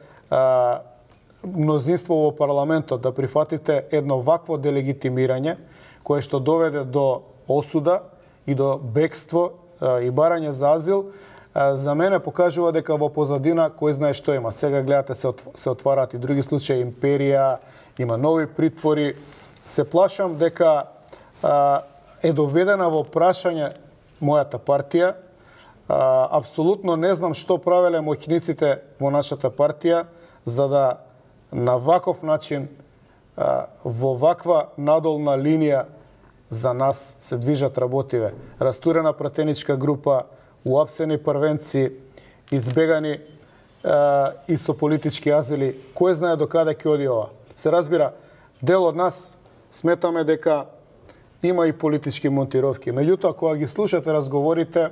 [SPEAKER 3] мнозинство во парламентот да прифатите едно вакво делегитимирање, кое што доведе до осуда и до бегство и барање за азил, за мене покажува дека во позадина кој знае што има. Сега гледате се отвараат и други случаи, империја, има нови притвори. Се плашам дека е доведена во прашање мојата партија. Апсолутно не знам што правеле моќниците во нашата партија за да на ваков начин во ваква надолна линија за нас се движат работиве. Растурена пратеничка група, уапсени првенци, избегани и со политички азили. Кој знае до каде ќе оди ова? Се разбира, дел од нас сметаме дека има и политички монтировки. Меѓутоа, кога ги слушате разговорите,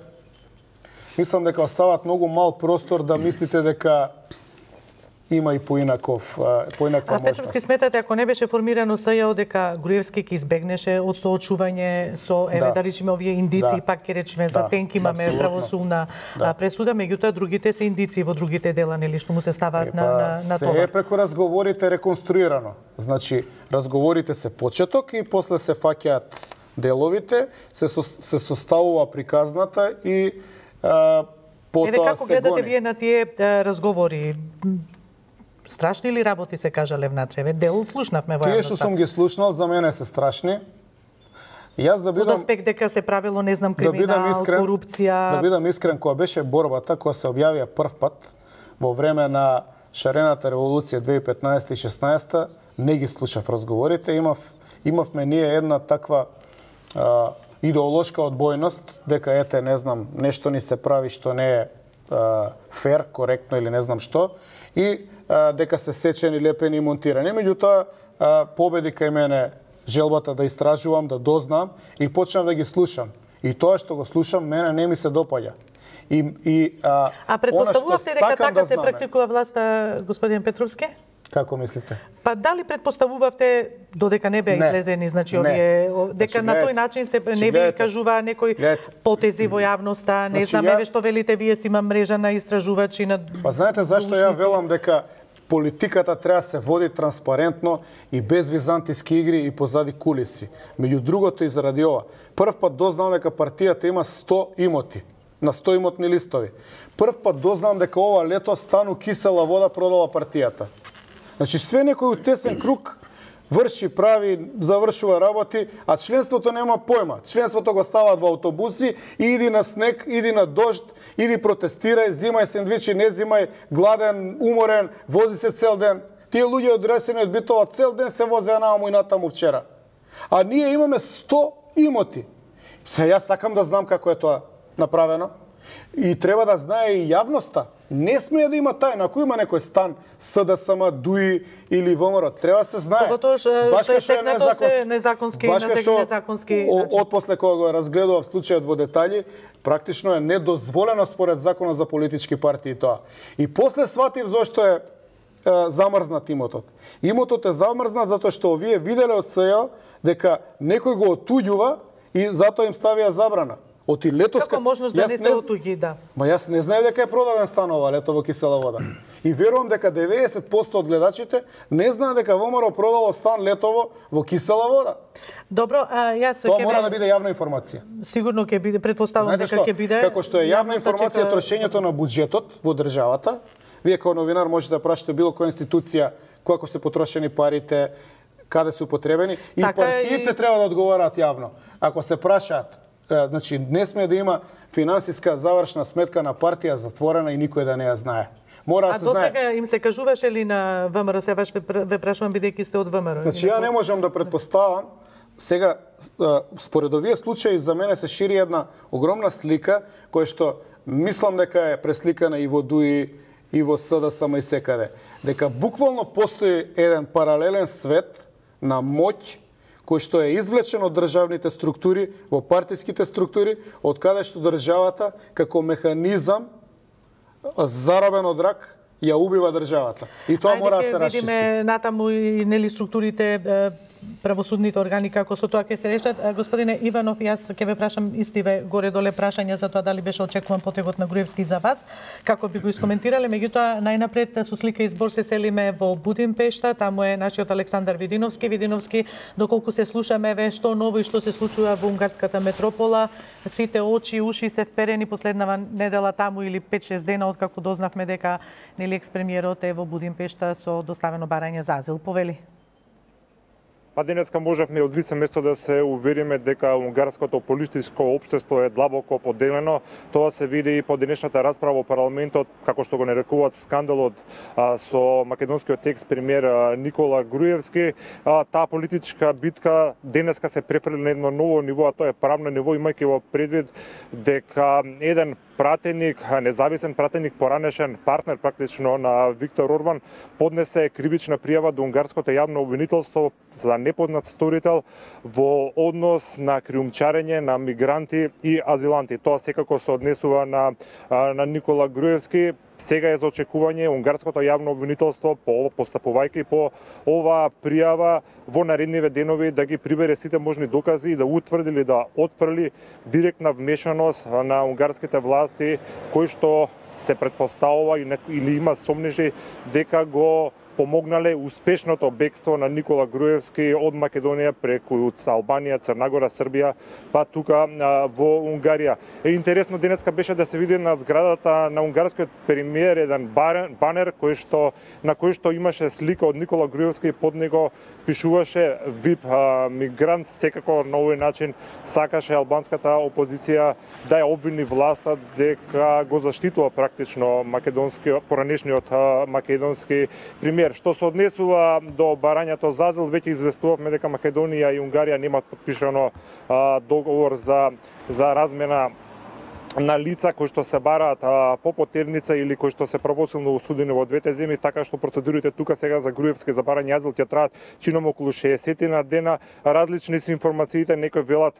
[SPEAKER 3] мислам дека остават многу мал простор да мислите дека има и поинаква можност.
[SPEAKER 2] Петровски, сметате, ако не беше формирано СЈО, дека Груевски ќе избегнеше од соочување со, да речеме, овие индици, пак ќе речеме, за Тенк имаме правосудна пресуда, меѓутоа другите се индици во другите дела, нели, што му се ставаат на това.
[SPEAKER 3] Се е преку разговорите реконструирано. Значи, разговорите се почеток и после се фаќаат деловите, се составува приказната и потоа се гони.
[SPEAKER 2] Како гледате вие на тие разговори? Страшни ли работи се кажале внатре? Дел слушнавме во јавноста.
[SPEAKER 3] Тие што сум ги слушнал за мене се страшни. Јас да бидам
[SPEAKER 2] од аспект дека се правило, не знам, криминал, корупција.
[SPEAKER 3] Да бидам искрен, кога беше борбата, кога се објавија прв пат во време на шарената револуција 2015 и 16, не ги слушав разговорите, имавме ние една таква идеолошка одбојност дека ете, не знам, нешто ни се прави што не е фер, коректно или не знам што, и дека се сечени, лепени и монтирани. Меѓутоа, победи кај мене желбата да истражувам, да дознам и почнав да ги слушам. И тоа што го слушам, мене не ми се допаѓа.
[SPEAKER 2] А предпоставувавте дека така се практикува власта, господин Петровски?
[SPEAKER 3] Како мислите?
[SPEAKER 2] Па дали предпоставувавте, додека не беа излезени, значи овие, дека на тој начин се не би кажува некои потези во јавноста, не знам, еве што велите, вие си има мрежа на истражувачи на...
[SPEAKER 3] Па знаете зашто ја велам дека политиката треба се води транспарентно и без византиски игри и позади кулиси. Меѓу другото и заради ова. Прв пат дознам дека партијата има 100 имоти, на 100 имотни листови. Прв пат дознам дека ова лето стану кисела вода продала партијата. Значи, све некој тесен круг врши, прави, завршува работи, а членството нема појма. Членството го ставаат во автобуси и иди на снег, иди на дожд, иди протестирај, зимај сендвичи, не зимај, гладен, уморен, вози се цел ден. Тие луѓе одресени од Битола цел ден се возеа нааму и натаму вчера. А ние имаме 100 имоти. Се јас сакам да знам како е тоа направено. И треба да знае и јавноста. Не смее да има тајна. Ако има некој стан, СДСМ, ДУИ или ВМРО, треба да се знае.
[SPEAKER 2] Поготоа што е незаконски.
[SPEAKER 3] Башка што отпосле кога го разгледував случајот во детали, практично е недозволено според законот за политички партии тоа. И после сватив зошто е замрзнат имотот. Имотот е замрзнат затоа што овие виделе од СЈО дека некој го отуѓува и затоа им ставија забрана. Оти летоска...
[SPEAKER 2] Како можност да не се отуѓи, да.
[SPEAKER 3] Ма јас не знаев дека е продаден стан ова лето во кисела вода. И верувам дека 90% од гледачите не знаат дека ВМРО продало стан летово во кисела вода.
[SPEAKER 2] Добро, јас
[SPEAKER 3] тоа мора да биде јавна информација.
[SPEAKER 2] Сигурно ќе биде, претпоставувам дека ќе биде.
[SPEAKER 3] Како што е јавна информација трошењето на буџетот во државата, вие како новинар можете да прашате било која институција како се потрошени парите, каде се употребени и партиите треба да одговараат јавно. Ако се прашаат, значи не смее да има финансиска завршна сметка на партија затворена и никој да не ја знае. Мора да се знае.
[SPEAKER 2] А досега им се кажуваше ли на ВМРО, се ве прашувам бидејќи сте од ВМРО?
[SPEAKER 3] Значи ја не можам да предпоставам. Сега според овие случаи за мене се шири една огромна слика која што мислам дека е пресликана и во ДУИ и во СДСМ и секаде. Дека буквално постои еден паралелен свет на моќ кој што е извлечен од државните структури, во партиските структури, од каде што државата, како механизам, заробен од рак, ја убива државата. И тоа мора да се расчисти.
[SPEAKER 2] Видиме натаму и нели структурите правосудните органи како со тоа ќе се решат. Господине Иванов, јас ќе ве прашам истиве горе-доле прашања за тоа дали беше очекуван потегот на Груевски за вас, како би го искоментирале. Меѓутоа, најнапред со слика и збор се селиме во Будимпешта, таму е нашиот Александар Видиновски. Видиновски, доколку се слушаме ве што ново и што се случува во унгарската метропола, сите очи, уши се вперени последнава недела таму или 5-6 дена откако дознавме дека нели екс-премиерот е во Будимпешта со доставено барање за азил. Повели.
[SPEAKER 4] Па денеска можевме од лице место да се увериме дека унгарското политичко општество е длабоко поделено. Тоа се види и по денешната расправа во парламентот, како што го нарекуваат скандалот со македонскиот екс-премиер Никола Груевски. Таа политичка битка денеска се префрли на едно ново ниво, а тоа е правно ниво, имајќи во предвид дека еден пратеник, независен пратеник, поранешен партнер практично на Виктор Орбан, поднесе кривична пријава до унгарското јавно обвинителство за непознат сторител во однос на криумчарење на мигранти и азиланти. Тоа секако се однесува на Никола Груевски. Сега е за очекување унгарското јавно обвинителство постапувајќи по оваа пријава во наредниве денови да ги прибере сите можни докази и да утврди или да отфрли директна вмешаност на унгарските власти кои што се претпоставува или има сомнежи дека го помогнале успешното бегство на Никола Груевски од Македонија преку Албанија, Црнагора, Србија, па тука во Унгарија. Интересно денеска беше да се види на зградата на унгарскиот премиер еден банер на кој што имаше слика од Никола Груевски и под него пишуваше VIP мигрант. Секако на овој начин сакаше албанската опозиција да ја обвини власта дека го заштитува практично поранешниот македонски премиер. Што се однесува до барањето за азил, веќе известувавме дека Македонија и Унгарија немаат подпишано договор за размена на лица кои што се бараат по потерница или кои што се правосилно осудени во двете земји, така што процедурите тука сега за Груевски за барање азил ќе траат чином околу 60 на дена. Различни се информациите, некои велат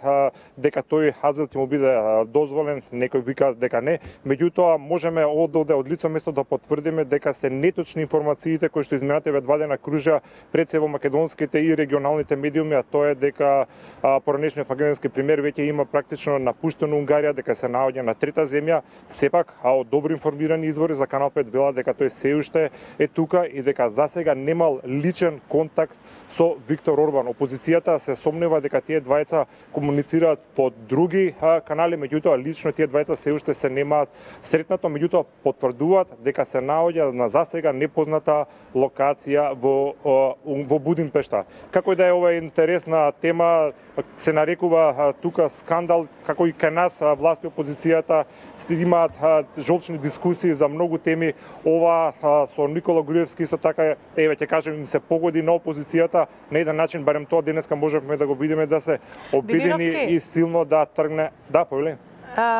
[SPEAKER 4] дека тој азил ќе му биде дозволен, некои викаат дека не. Меѓутоа можеме од лице место да потврдиме дека се неточни информациите кои што изминативе 2 дена кружа пред се во македонските и регионалните медиуми, а тоа е дека поранешниот македонски премиер веќе има практично напуштено Унгарија, дека се наоѓа на трета земја. Сепак, од добро информирани извори за Канал 5 велат дека тој се уште е тука и дека засега немал личен контакт со Виктор Орбан. Опозицијата се сомнева дека тие двајца комуницираат по други канали, меѓутоа лично тие двајца се уште се немаат сретнато, меѓутоа потврдуваат дека се наоѓа на засега непозната локација во Будимпешта. Како и да е ова интересна тема, се нарекува тука скандал, како и кај нас власти опозицијата имаат жолчни дискусии за многу теми. Ова со Никола Груевски исто така, ќе кажем, им се погоди на опозицијата. На еден начин, барем тоа денеска можевме да го видиме, да се обидени и силно да тргне. Да, повели.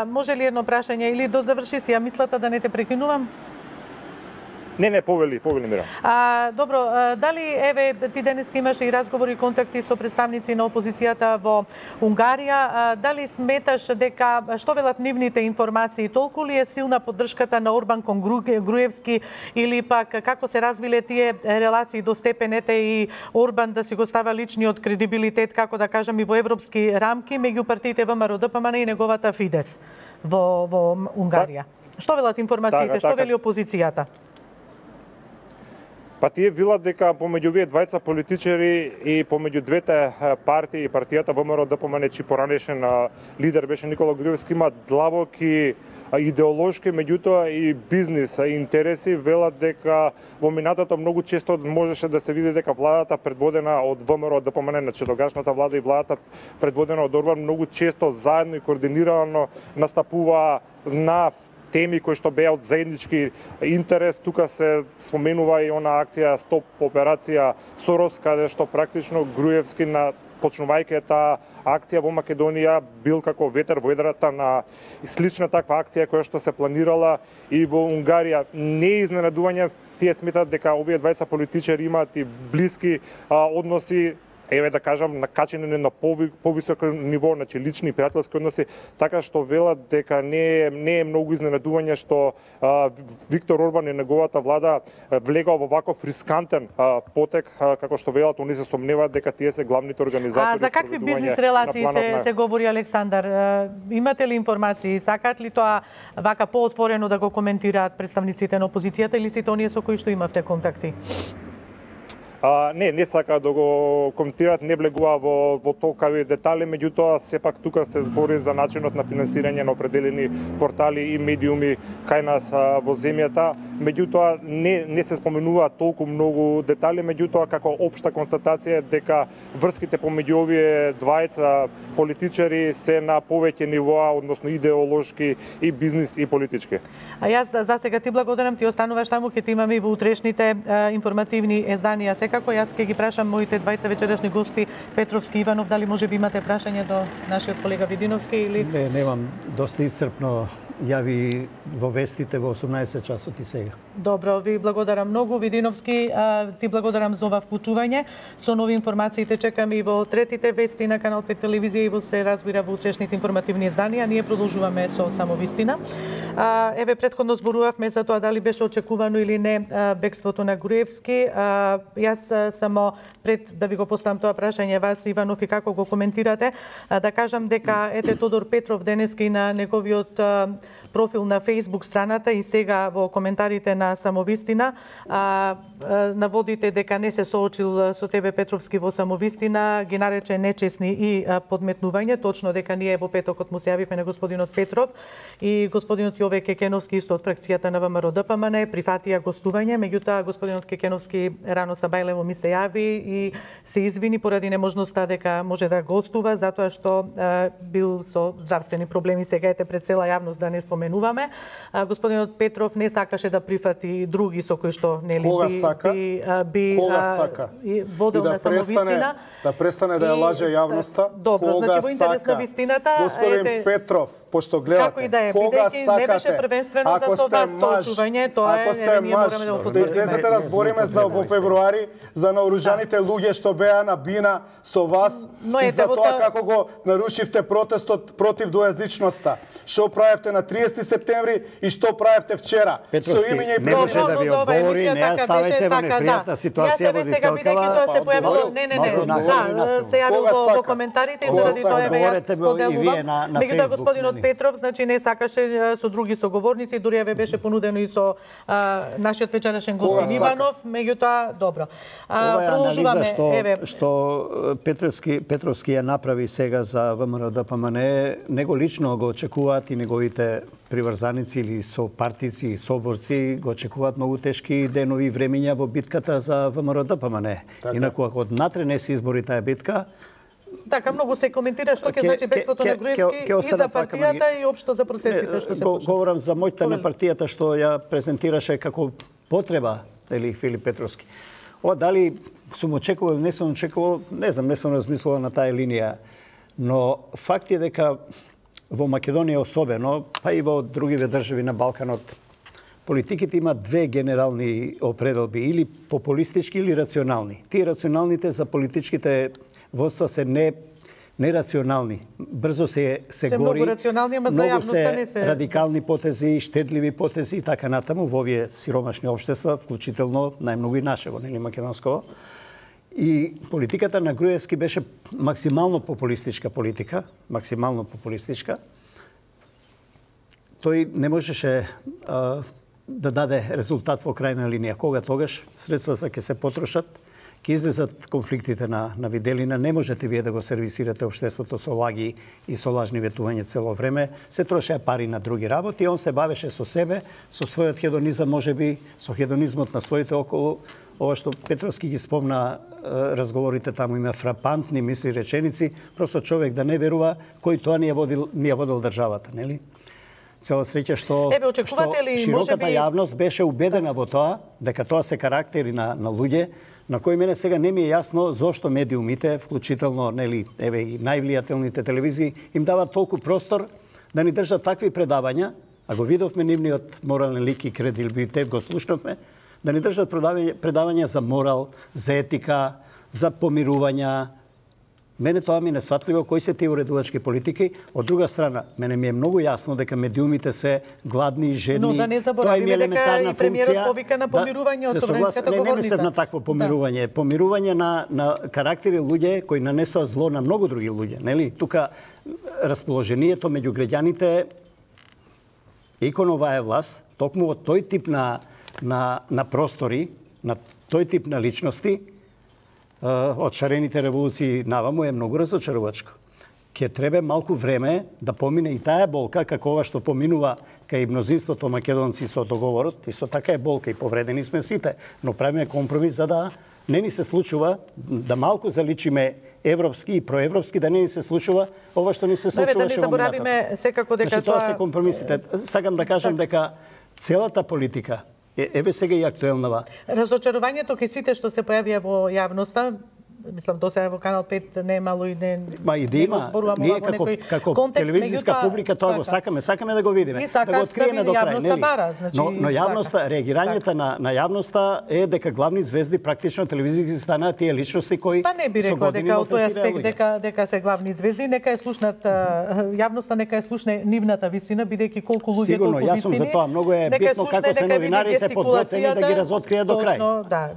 [SPEAKER 2] Може ли едно прашање или до заврши си, мислата да не те прекинувам?
[SPEAKER 4] Не, повели Мира.
[SPEAKER 2] Добро, дали ти денеска имаше и разговори и контакти со представници на опозицијата во Унгарија, дали сметаш дека што велат нивните информации, толку ли е силна поддршката на Орбан кон Груевски или пак како се развиле тие релации до степенете и Орбан да си го става личниот кредибилитет, како да кажам, и во европски рамки меѓу партиите ВМРО, ДПМН и неговата Фидес во Унгарија? Што велат информациите, што вели опозицијата?
[SPEAKER 4] Па тие велат дека помеѓу овие двајца политичари и помеѓу двете партии, партијата ВМРО ДПМН, чиј поранешен лидер беше Никола Груевски, има длабоки идеолошки, меѓутоа и бизнис интереси. Велат дека во минатото многу често можеше да се види дека владата предводена од ВМРО ДПМН, значи тогашната влада и владата предводена од Орбан, многу често заедно и координирано настапува на теми кои што беа од заеднички интерес. Тука се споменува и она акција Стоп операција Сорос, каде што практично Груевски почнувајќи таа акција во Македонија бил како ветер во едрата на слична таква акција која што се планирала и во Унгарија. Не е изненадување, тие сметат дека овие двајца политичари имаат и блиски односи еве да кажам накачени на повисоко ниво, значи лични и пријателски односи, така што велат дека не е многу изненадување што Виктор Орбан и неговата влада влегува во ваков рискантен потек, како што велат, они се сомневаат дека тие се главните организатори.
[SPEAKER 2] А за какви бизнис релации се говори, Александар? Имате ли информации? Сакаат ли тоа вака поотворено да го коментираат представниците на опозицијата или сите оние со кои што имавте контакти?
[SPEAKER 4] Не сака да го коментираат, не влегува во толкави детали, меѓутоа сепак тука се збори за начинот на финансирање на определени портали и медиуми кај нас во земјата, меѓутоа не се споменува толку многу детали, меѓутоа како општа констатација е дека врските помеѓу овие двајца политичари се на повеќе нивоа, односно идеолошки и бизнис и политички.
[SPEAKER 2] А јас за сега ти благодарам, ти остануваш таму, ќе ти имаме и во утрешните информативни изданија. Секако јас ќе ги прашам моите двајца вечерашни гости, Петровски и Иванов, дали може би имате прашање до нашиот колега Видиновски или
[SPEAKER 1] Не, немам, доста исцрпно јави во вестите во 18 часот и сега.
[SPEAKER 2] Добро, ви благодарам многу, Видиновски, ти благодарам за ова вклучување. Со нови информации те чекаме и во третите вести на Канал 5 телевизија и во се разбира во утрешните информативни изданија. Ние продолжуваме со само вистина. Еве претходно зборувавме за тоа дали беше очекувано или не бегството на Груевски. Јас само пред да ви го поставам тоа прашање вас, Иванов, и како го коментирате, да кажам дека ете Тодор Петров денеска и на неговиот профил на Facebook страната и сега во коментарите на Самовистина наводите дека не се соочил со тебе Петровски во Самовистина, ги нарече нечесни и подметнување, точно дека ние во петокот му се јавивме на господинот Петров и господинот Јове Кекеновски исто од фракцијата на ВМРО ДПМН прифатија гостување, меѓутоа господинот Кекеновски рано сабајлево ми се јави и се извини поради неможноста дека може да гостува затоа што бил со здравствени проблеми, сега ете пред цела јавност да не споменуваме. Господинот Петров не сакаше да прифати други со кои што нели би водел на Самовистина.
[SPEAKER 3] Да престане да ја лаже јавноста.
[SPEAKER 2] Добро, значи во интерес на вистината,
[SPEAKER 3] господин Петров, пошто гледате,
[SPEAKER 2] да
[SPEAKER 3] кога сакате,
[SPEAKER 2] не беше првенствено за со вас соочување, тоа
[SPEAKER 3] ако сте маж, да излезете да збориме за во февруари за наоружаните луѓе што беа на бина со вас и за тоа како го нарушивте протестот против двојазичноста. Што правевте на 30 септември и што правевте вчера?
[SPEAKER 1] Петровски, не може да ви одговори, не ја ставите во непријатна ситуација во
[SPEAKER 2] сега бидејќи тоа се појавило, се јавил во коментарите и заради тоа јас споделувам. Меѓутоа господинот Петров, значи не сакаше со други соговорници, дури еве беше понудено и со нашиот вечерашен господин Иванов, меѓутоа добро.
[SPEAKER 1] Продолжуваме што Петровски ја направи сега за ВМРО ДПМН, него лично го очекуваат и неговите приврзаници или сопартици и соборци го очекуваат многу тешки денови и времиња во битката за ВМРО ДПМН. Инаку ако однатре не се избори таа битка,
[SPEAKER 2] така многу се коментира што ќе значи бегството на Груевски и за партијата и општо за процесите што се почнат.
[SPEAKER 1] Говорам за моќта на партијата што ја презентираше како потреба, или Филип Петровски. Ова дали сум очекувал, не сум очекувал, не знам, не сум размислувал на таа линија, но факт е дека во Македонија особено, па и во другиве држави на Балканот, политиките имаат две генерални определби, или популистички или рационални. Тие рационалните за политичките водства се нерационални. Брзо се гори.
[SPEAKER 2] Многу рационални, ама за јавноста не се
[SPEAKER 1] радикални потези, штедливи потези и така натаму во овие сиромашни општества, вклучително најмногу и нашево, нели македонско. И политиката на Груевски беше максимално популистичка политика, максимално популистичка. Тој не можеше да даде резултат во крајна линија. Кога тогаш средствата ќе се потрошат, ќе излезат конфликтите на виделина, не можете вие да го сервисирате општеството со лаги и со лажни ветувања цело време, се трошеа пари на други работи, он се бавеше со себе, со својот хедонизам, можеби со хедонизмот на своите околу. Ова што Петровски ги спомна, разговорите таму има фрапантни мисли, реченици, просто човек да не верува кој тоа ни ја водил државата, нели? Цела среќа што широката јавност беше убедена во тоа, дека тоа се карактери на луѓе, на кои мене сега не ми е јасно зошто медиумите, вклучително нели еве и највлијателните телевизии, им дават толку простор да ни држат такви предавања, а го видовме нивниот морален лик и кредибилитет, го слушнавме, да ни држат предавања за морал, за етика, за помирувања. Мене тоа ми е несватливо кои се тие уредувачки политики. Од друга страна, мене ми е многу јасно дека медиумите се гладни и жедни.
[SPEAKER 2] Но да не заборавиме дека и премиерот повика на помирување од собранската говорница.
[SPEAKER 1] Не мислев на такво помирување. Помирување на карактери луѓе кои нанесоа зло на многу други луѓе, нели? Тука расположението меѓу граѓаните и кон оваа власт, токму од тој тип на простори, на тој тип на личности, од шарените револуции наваму е многу разочарувачко. Ке треба малку време да помине и таа болка, како ова што поминува кај мнозинството македонци со договорот, исто така е болка и повредени сме сите, но правиме компромис за да не ни се случува да малку заличиме европски и проевропски, да не ни се случува ова што ни се случуваше во минатото.
[SPEAKER 2] Да не заборавиме секако дека
[SPEAKER 1] тоа се компромисите. Сакам да кажам дека целата политика еве сега и актуелнава.
[SPEAKER 2] Разочарувањето кај сите што се појавија во јавноста, мислам до сега во Канал 5 не е мало и не.
[SPEAKER 1] Ма и да има, ние како телевизиска публика тоа го сакаме да го видиме, да го откриеме до крај, нели? Но јавноста, реагирањето на јавноста е дека главни звезди практично телевизиски станаат тие личности кои
[SPEAKER 2] Па не би рекла дека од тој аспект дека се главни звезди, нека е слушнат јавноста, нека е слушне нивната вистина, бидејќи колку луѓе толку вистини.
[SPEAKER 1] Сигурно, јас сум за тоа, многу е битно како се новинарите подготвени да ги разоткријат до крај.
[SPEAKER 2] Точно, да,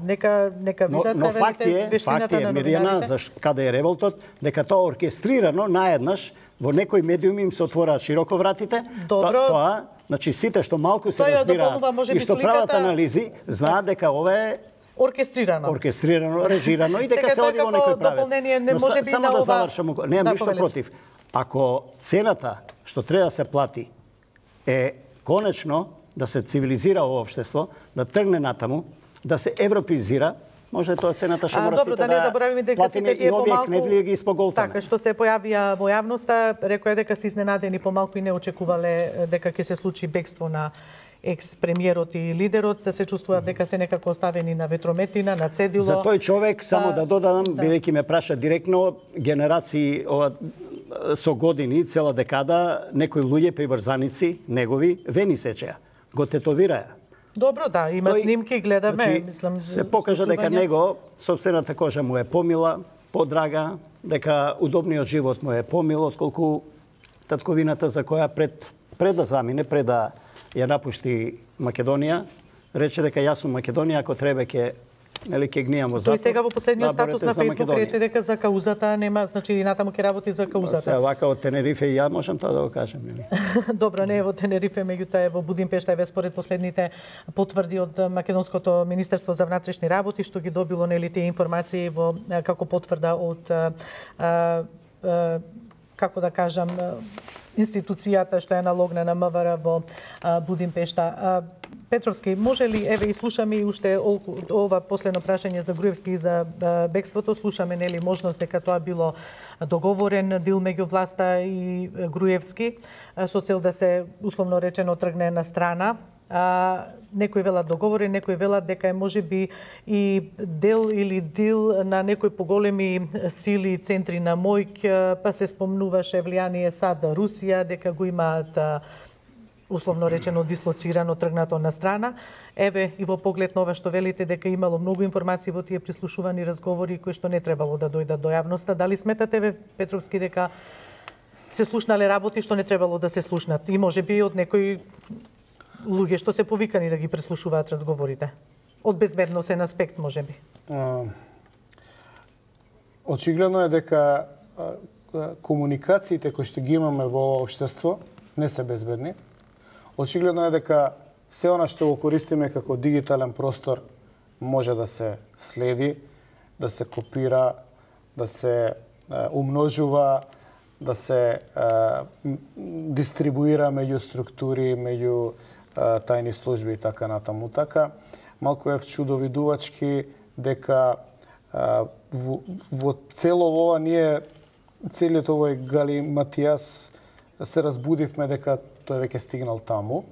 [SPEAKER 2] нека видат се вистината на
[SPEAKER 1] Мирјана, каде е револтот, дека тоа оркестрирано наеднаш во некои медиуми им се отвораат широко вратите. Тоа, значи сите што малку се разбираат и што прават анализи, знаат дека ова е оркестрирано, режирано и дека се оди во некој правец. Само да завршам, немам ништо против. Ако цената што треба да се плати е конечно да се цивилизира ова општество, да тргне натаму, да се европеизира, може тоа цената што мора сите да платиме и овие кнедли ги испоголтаме.
[SPEAKER 2] Така, што се појавија во јавноста, рекоа дека се изненадени помалку и не очекувале дека ќе се случи бегство на екс-премиерот и лидерот, да се чувствуваат дека се некако оставени на ветрометина, на цедило.
[SPEAKER 1] За тој човек, само да додадам, бидејќи ме праша директно, генерации со години, цела декада, некои луѓе, приврзаници, негови, вени сечеа, го тетовираја.
[SPEAKER 2] Добро, да, има снимки, гледаме,
[SPEAKER 1] значи,
[SPEAKER 2] мислам,
[SPEAKER 1] се покажа дека него сопствената кожа му е помила, подрага, дека удобниот живот му е помил отколку татковината за која пред да замине, пред да ја напушти Македонија, рече дека јас сум Македонија, ако треба ќе гнијам во затвор.
[SPEAKER 2] Тој сега во последниот статус на Facebook рече дека за каузата нема, значи и натаму ќе работи за каузата.
[SPEAKER 1] Се вака од Тенерифе и ја можам тоа да го кажам, нели?
[SPEAKER 2] Добро, не е во Тенерифе, меѓутоа е во Будимпешта, еве според последните потврди од македонското Министерство за внатрешни работи што ги добило нели тие информации во како потврда од како да кажам институцијата што е налогна на МВР во Будимпешта. Петровски, може ли, еве и слушаме и уште ова последно прашање за Груевски и за бегството, слушаме нели можност дека тоа било договорен дил меѓу власта и Груевски со цел да се условно речено тргне на страна. Некои велат договорен, некои велат дека е можеби и дел или дил на некои поголеми сили и центри на моќ, па се спомнуваше влијание САД, Русија, дека го имаат условно речено дислоцирано, тргнато на страна. Еве и во поглед на ова што велите дека имало многу информации во тие прислушувани разговори кои што не требало да дојдат до јавноста. Дали сметате, ве Петровски, дека се слушнале работи што не требало да се слушнат и можеби од некои луѓе што се повикани да ги преслушуваат разговорите? Од безбедносен аспект, можеби.
[SPEAKER 3] Очигледно е дека комуникациите кои што ги имаме во општество не се безбедни. Очигледно е дека се она што го користиме како дигитален простор може да се следи, да се копира, да се умножува, да се дистрибуира меѓу структури, меѓу тајни служби и така натаму. Така, малку е вчудовидувачки дека во цело ова ние, целиот овој галиматијас, се разбудивме дека тој веќе стигнал таму,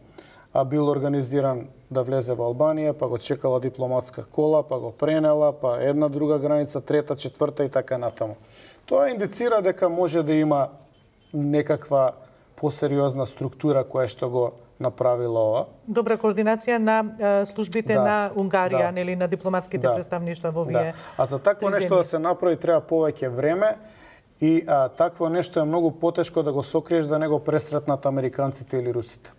[SPEAKER 3] а бил организиран да влезе во Албанија, па го чекала дипломатска кола, па го пренела, па една друга граница, трета, четврта и така натаму. Тоа индицира дека може да има некаква посериозна структура која што го направила ова.
[SPEAKER 2] Добра координација на службите на Унгарија, нели, на дипломатските представништва во овие.
[SPEAKER 3] А за такво нешто да се направи треба повеќе време и такво нешто е многу потешко да го сокриеш да не го пресретнат американците или русите.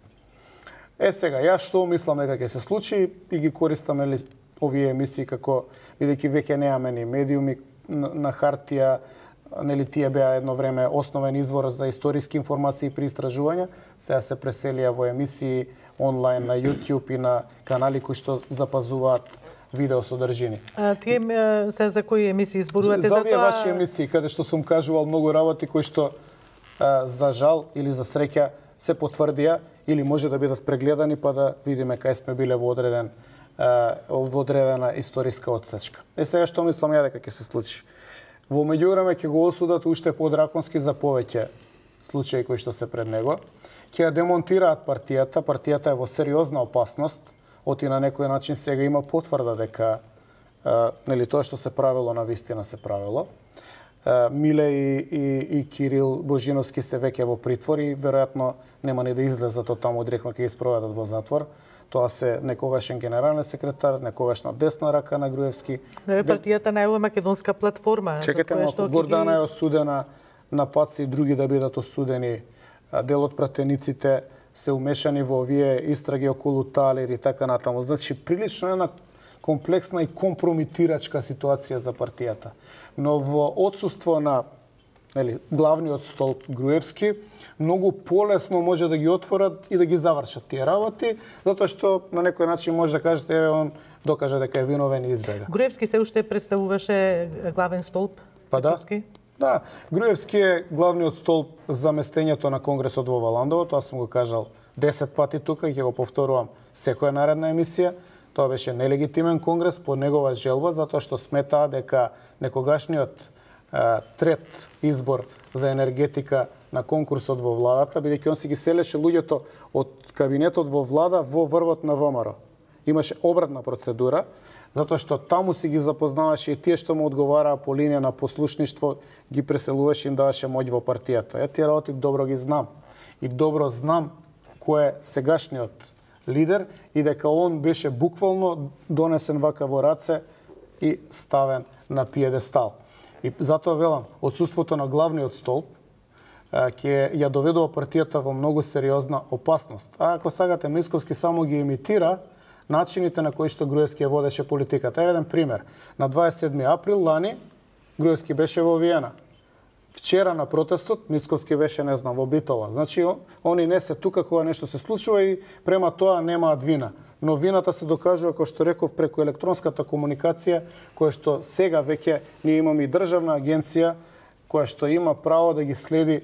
[SPEAKER 3] Сега, јас што мислам дека ќе се случи и ги користам овие емисии како, бидејќи веќе немаме ни медиуми на хартија, нели тие беа едно време основен извор за историски информации при истражувања, сега се преселија во емисии онлайн на YouTube и на канали кои што запазуваат видео содржини.
[SPEAKER 2] Тие се за кои емисии зборувате?
[SPEAKER 3] За овие ваши емисии, каде што сум кажувал многу работи кои што за жал или за среќа се потврдија или може да бидат прегледани па да видиме кај сме биле во одредена историска отсечка. Сега што мислам ја дека ќе се случи? Во меѓувреме ќе го осудат уште подраконски за повеќе случаи кои што се пред него. Ќе ја демонтираат партијата. Партијата е во сериозна опасност. Оти на некој начин сега има потврда дека нели тоа што се правило на вистина се правило. Миле и Кирил Божиновски се веќе во притвор и веројатно нема ни да излезат од таму, директно ќе ги спроведат во затвор. Тоа се некогашен генерален секретар, некогашна десна рака на Груевски.
[SPEAKER 2] Партијата најава македонска платформа.
[SPEAKER 3] Чекайте малку, Гордана е осудена на Паци и други да бидат осудени. Дел од пратениците се умешани во овие истраги околу Талир и така натаму. Значи, прилично една комплексна и компромитирачка ситуација за партијата. Но во отсуство на главниот столб Груевски, многу полесно може да ги отворат и да ги завршат тие работи, затоа што на некој начин може да кажете он докаже дека е виновен и избега.
[SPEAKER 2] Груевски се уште представуваше главен столб?
[SPEAKER 3] Па да, Груевски е главниот столб за местењето на Конгресот во Валандово, тоа сум го кажал 10 пати тука и ќе го повторувам секоја наредна емисија. Тоа беше нелегитимен конгрес по негова желба, затоа што сметаа дека некогашниот трет избор за енергетика на конкурсот во владата, бидејќи он си ги селеше луѓето од кабинетот во влада во врвот на ВМРО. Имаше обратна процедура, затоа што таму си ги запознаваше и тие што му одговараа по линија на послушништво, ги преселуваше и им даваше моќ во партијата. Тие работи добро ги знам. И добро знам кој е сегашниот лидер и дека он беше буквално донесен вака во раце и ставен на пиедестал. И затоа велам, отсуството на главниот столб ќе ја доведува партијата во многу сериозна опасност. А ако сагате, Мицковски само ги имитира начините на кои што Груевски ја водеше политиката. Еден пример. На 27 април лани Груевски беше во Виена. Вчера на протестот Мицковски беше, не знам, во Битола. Значи, они не се тука кога нешто се случува и према тоа немаат вина. Но вината се докажува, кој што реков, преку електронската комуникација, која што сега веќе ние имаме и државна агенција, која што има право да ги следи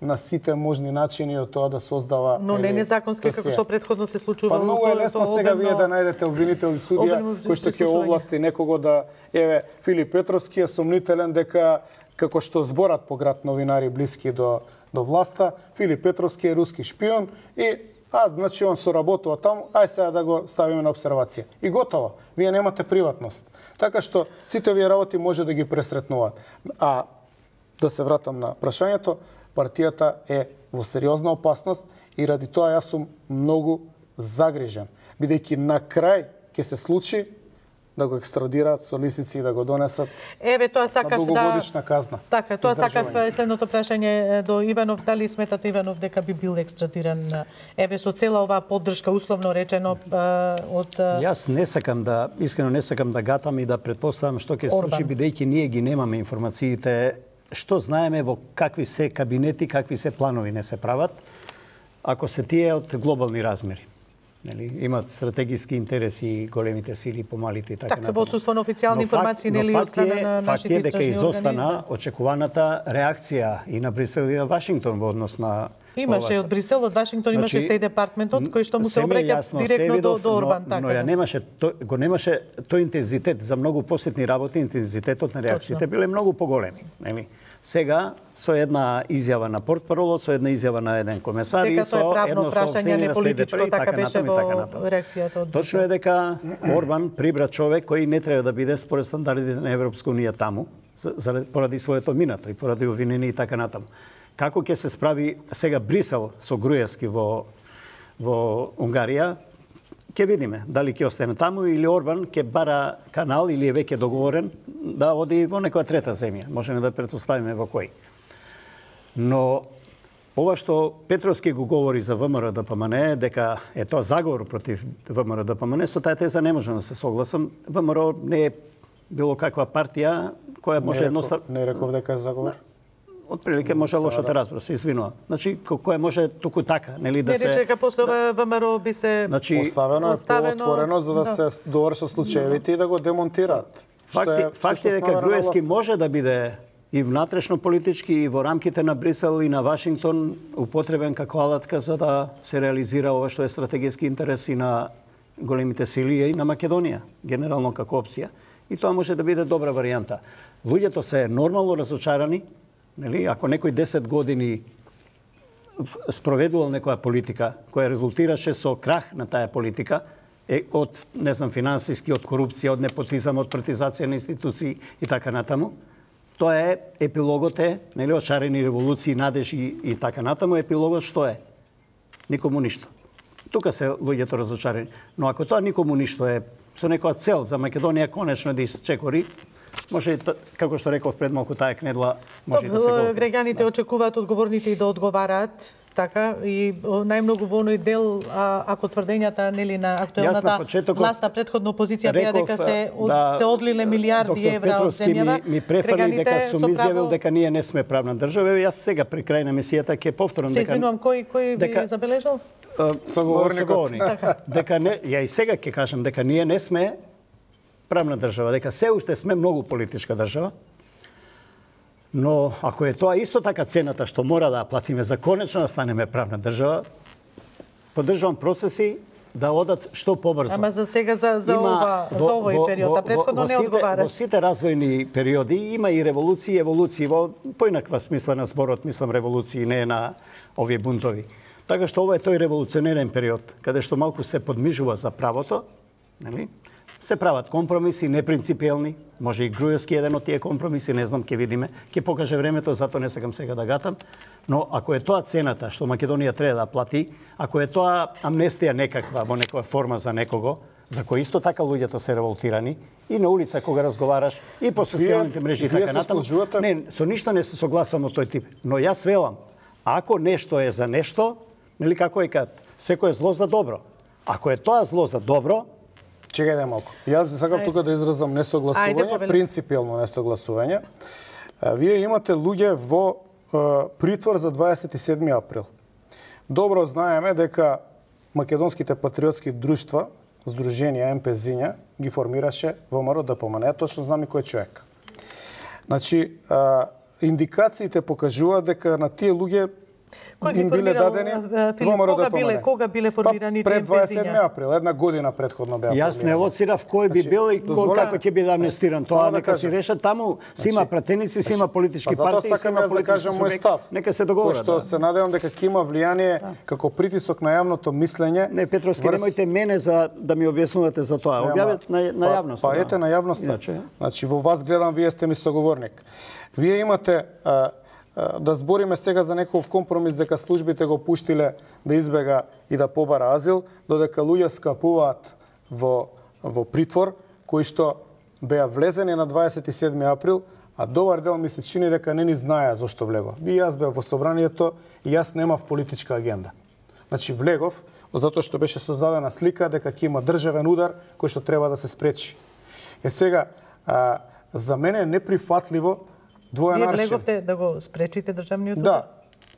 [SPEAKER 3] на сите можни начини од тоа да создава...
[SPEAKER 2] Но не незаконски, како што претходно се случувало.
[SPEAKER 3] Па многу е лесно сега вие да најдете обвинител и судија, кој што ќе овласти некого да... Еве, Филип Петровски е сомнителен дека, како што зборат по град новинари блиски до власта, Филип Петровски е руски шпион и значи он соработува таму, ај сега да го ставиме на обсервација. И готово. Вие немате приватност. Така што сите овие работи може да ги пресретнуваат. А да се вратам на прашањето, партијата е во сериозна опасност и ради тоа јас сум многу загрижен, бидејќи на крај ќе се случи да го екстрадираат со лисици и да го донесат на долгогодишна казна.
[SPEAKER 2] Така, тоа сакав следното прашање до Иванов. Дали сметате, Иванов, дека би бил екстрадиран со цела оваа поддршка, условно речено, од...
[SPEAKER 1] Јас искрено не сакам да гатам и да претпоставам што ќе се случи, бидејќи ние ги немаме информациите, што знаеме во какви се кабинети, какви се планови не се прават, ако се тие од глобални размери. Имат стратегиски интереси големите сили, помалите и така натаму.
[SPEAKER 2] Во отсуство на официјални информации, нели, од страна на нашите истражни органи?
[SPEAKER 1] Факт е дека изостана очекуваната реакција и на Брисел и на Вашингтон во однос на...
[SPEAKER 2] Имаше од Брисел, од Вашингтон имаше Стејт департментот кој што му се обраќа директно до Орбан, така.
[SPEAKER 1] Но ја немаше тој интензитет за многу посетни работи, интензитетот на реакциите биле многу поголеми, нели? Сега со една изјава на портпаролот, со една изјава на еден комесар и со едно соопштение на следите, така натаму. Точно е дека Орбан прибра човек кој не треба да биде според стандардите на Европска унија таму, поради своето минато и поради обвинени и така натаму. Како ќе се справи сега Брисел со Груевски во во Унгарија, ќе видиме дали ќе остане таму или Орбан ќе бара канал или е веќе договорен да оди во некоја трета земја. Можеме да претпоставиме во кој. Но ова што Петровски го говори за ВМРО-ДПМН, дека е тоа заговор против ВМРО-ДПМН, со таа теза не можам да се согласам. ВМРО не е било каква партија која може едноставно...
[SPEAKER 3] Не реков дека е заговор?
[SPEAKER 1] Отприлике може лошо да разбира, се извинува. Значи, која може туку така, нели да се...
[SPEAKER 2] Не рече дека после ова ВМРО би се...
[SPEAKER 1] Значи,
[SPEAKER 3] оставено е поотворено за да се довршат случаевите и да го демонтираат.
[SPEAKER 1] Факт е дека Груевски може да биде и внатрешно политички и во рамките на Брисел и на Вашингтон употребен како алатка за да се реализира ова што е стратегиски интерес и на големите сили и на Македонија, генерално како опција. И тоа може да биде добра варијанта. Луѓето се нормално разочарани, нели, ако некој 10 години спроведувал некоја политика која резултираше со крах на таа политика, од, не знам, финансиски, од корупција, од непотизам, од партизација на институции и така натаму, тоа е епилогот е, нели, од шарени револуции, надежи и така натаму, епилогот што е? Никому ништо. Тука се луѓето разочарени. Но ако тоа никому ништо е со некоја цел за Македонија конечно да исчекори, може, како што реков пред малку, таа кнедла може да се говори.
[SPEAKER 2] Граѓаните очекуваат одговорните и да одговараат, така, и најмногу во оној дел, ако тврдењата, нели, на актуелната власт на предходна опозиција беа дека се одлиле милиарди евра од земјава.
[SPEAKER 1] Ми префали дека сум изјавил дека ние не сме правна држава, и јас сега при крај на емисијата ќе повторам дека...
[SPEAKER 2] Се извинувам, кој ви забележал?
[SPEAKER 1] Соговорник. Дека не, ја и сега ќе кажам дека ние не сме правна држава, дека се уште сме многу политичка држава. Но ако е тоа исто така цената што мора да платиме за конечно да станеме правна држава, поддржувам процеси да одат што побрзо.
[SPEAKER 2] Ама за сега за овој период, а претходно не одговара.
[SPEAKER 1] Во сите развојни периоди има и револуции и еволуции, во поинаква смисла на зборот, мислам револуции, не на овие бунтови. Така што ова е тој револуционерен период, каде што малку се подмижува за правото, нели? Се прават компромиси, непринципиелни, може и Груевски еден од тие компромиси, не знам, ќе видиме, ќе покаже времето, затоа не сакам сега да гатам, но ако е тоа цената што Македонија треба да плати, ако е тоа амнестија некаква во некоја форма за некого, за кој исто така луѓето се револтирани, и на улица кога разговараш, и по социјалните мрежи и така натаму, не, со ништо не се согласам од тој тип, но јас велам, ако нешто е за нешто, нели како е кад, секој е зло за добро. Ако е тоа зло за добро,
[SPEAKER 3] чекајте малку. Јас сакам тука да изразам несогласување, принципиелно несогласување. Вие имате луѓе во притвор за 27 април. Добро знаеме дека македонските патриотски друштва, здруженија МПЗиња, ги формираше ВМРО-ДПМН. Точно знам и кој човек. Значи, индикациите покажуваат дека на тие луѓе им биле дадени ВМРО-ДПМН.
[SPEAKER 2] Кога биле формирани тие
[SPEAKER 3] пред 27 април, една година предходно беа формирани.
[SPEAKER 1] Јас не лоцирав кој би бил и како ќе биде амнестиран. Тоа нека си решат таму, си има пратеници, си има политички партии, си има политички субјекти. Нека се договорат.
[SPEAKER 3] Што се надевам дека ќе има влијание како притисок на јавното мислење.
[SPEAKER 1] Не, Петровски, немојте мене за да ми објаснувате за тоа. Објавете на јавност.
[SPEAKER 3] Па ете на јавноста. Значи во вас гледам, вие сте ми соговорник. Вие имате да збориме сега за некој компромис дека службите го пуштиле да избега и да побара азил, додека луѓе скапуваат во притвор, кои што беа влезени на 27 април, а добар дел ми се чини дека не ни знаеа зошто влегов. И јас бев во собранието и јас немав политичка агенда. Значи влегов затоа што беше создадена слика дека ќе има државен удар кој што треба да се спречи. Сега, за мене е неприфатливо двоен аршин.
[SPEAKER 2] Вие влеговте да го спречите државниот удар?
[SPEAKER 3] Да.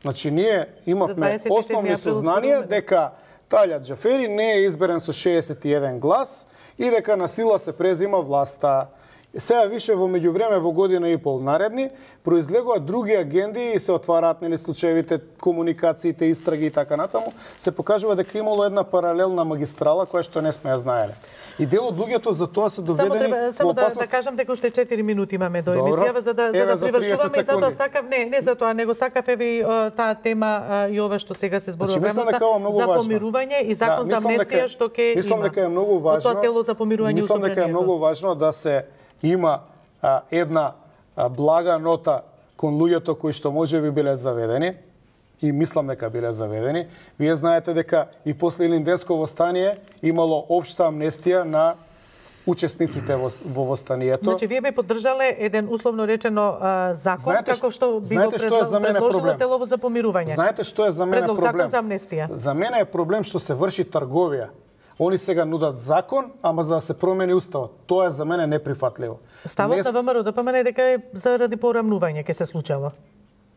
[SPEAKER 3] Значи, ние имавме основни сознанија дека Талјат Џафери не е изберен со 61 глас и дека на сила се презима власта. Сега више во меѓувреме во година и пол наредни произлегуваат други агенди и се отвараат нели случаевите, комуникациите, истраги и така натаму, се покажува дека имало една паралелна магистрала која што не сме ја знаеле. И дел од луѓето за тоа се доведени
[SPEAKER 2] само да кажам дека уште 4 минути имаме до емисијава за да привршуваме и затоа сакав не за тоа него сакав еве таа тема и ова што сега се зборува
[SPEAKER 3] за
[SPEAKER 2] помирување и закон за амнестија што ќе има.
[SPEAKER 3] Мислам дека е многу важно.
[SPEAKER 2] Тоа тело за помирување
[SPEAKER 3] мислам дека е многу важно да се има една блага нота кон луѓето кои што можеби биле заведени, и мислам дека биле заведени. Вие знаете дека и после Илинденско востание имало општа амнестија на учесниците во востанието.
[SPEAKER 2] Значи, вие би поддржале еден условно речено закон,
[SPEAKER 3] Знаете,
[SPEAKER 2] како што би го
[SPEAKER 3] што е за мене
[SPEAKER 2] предложило
[SPEAKER 3] проблем?
[SPEAKER 2] телово за помирување.
[SPEAKER 3] Знаете што е за мене
[SPEAKER 2] Предлог
[SPEAKER 3] проблем?
[SPEAKER 2] закон за амнестија.
[SPEAKER 3] За мене е проблем што се врши трговија. Они сега нудат закон, ама за да се промени уставот. Тоа е за мене неприфатливо.
[SPEAKER 2] Ставот на ВМРО ДПМН е дека е заради порамнување ќе се случило.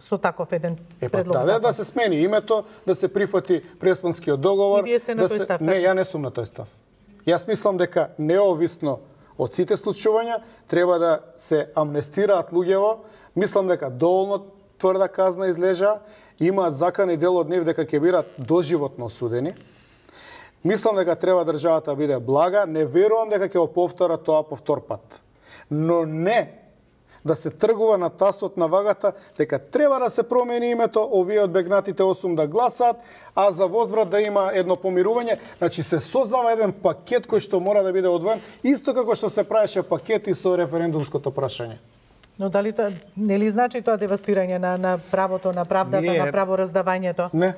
[SPEAKER 2] Со таков еден предлог закон.
[SPEAKER 3] Да се смени името, да се прифати Преспанскиот договор.
[SPEAKER 2] И вие сте на тој став?
[SPEAKER 3] Не, ја не сум на тој став. Јас мислам дека неовисно од сите случувања треба да се амнестираат луѓево. Мислам дека доволно тврда казна излежа, имаат закани дел од нив дека ќе бидат доживотно осудени. Мислам дека треба државата да биде блага, не верувам дека ќе го повтора тоа повтор пат. Но не да се тргува на тасот на вагата дека треба да се промени името, овие од бегнатите 8 да гласаат, а за возврат да има едно помирување. Значи се создава еден пакет кој што мора да биде одвоен, исто како што се правеше пакети со референдумското прашање.
[SPEAKER 2] Но дали тоа нели значи тоа девастирање на правото, на правдата, на правораздавањето?
[SPEAKER 3] Не.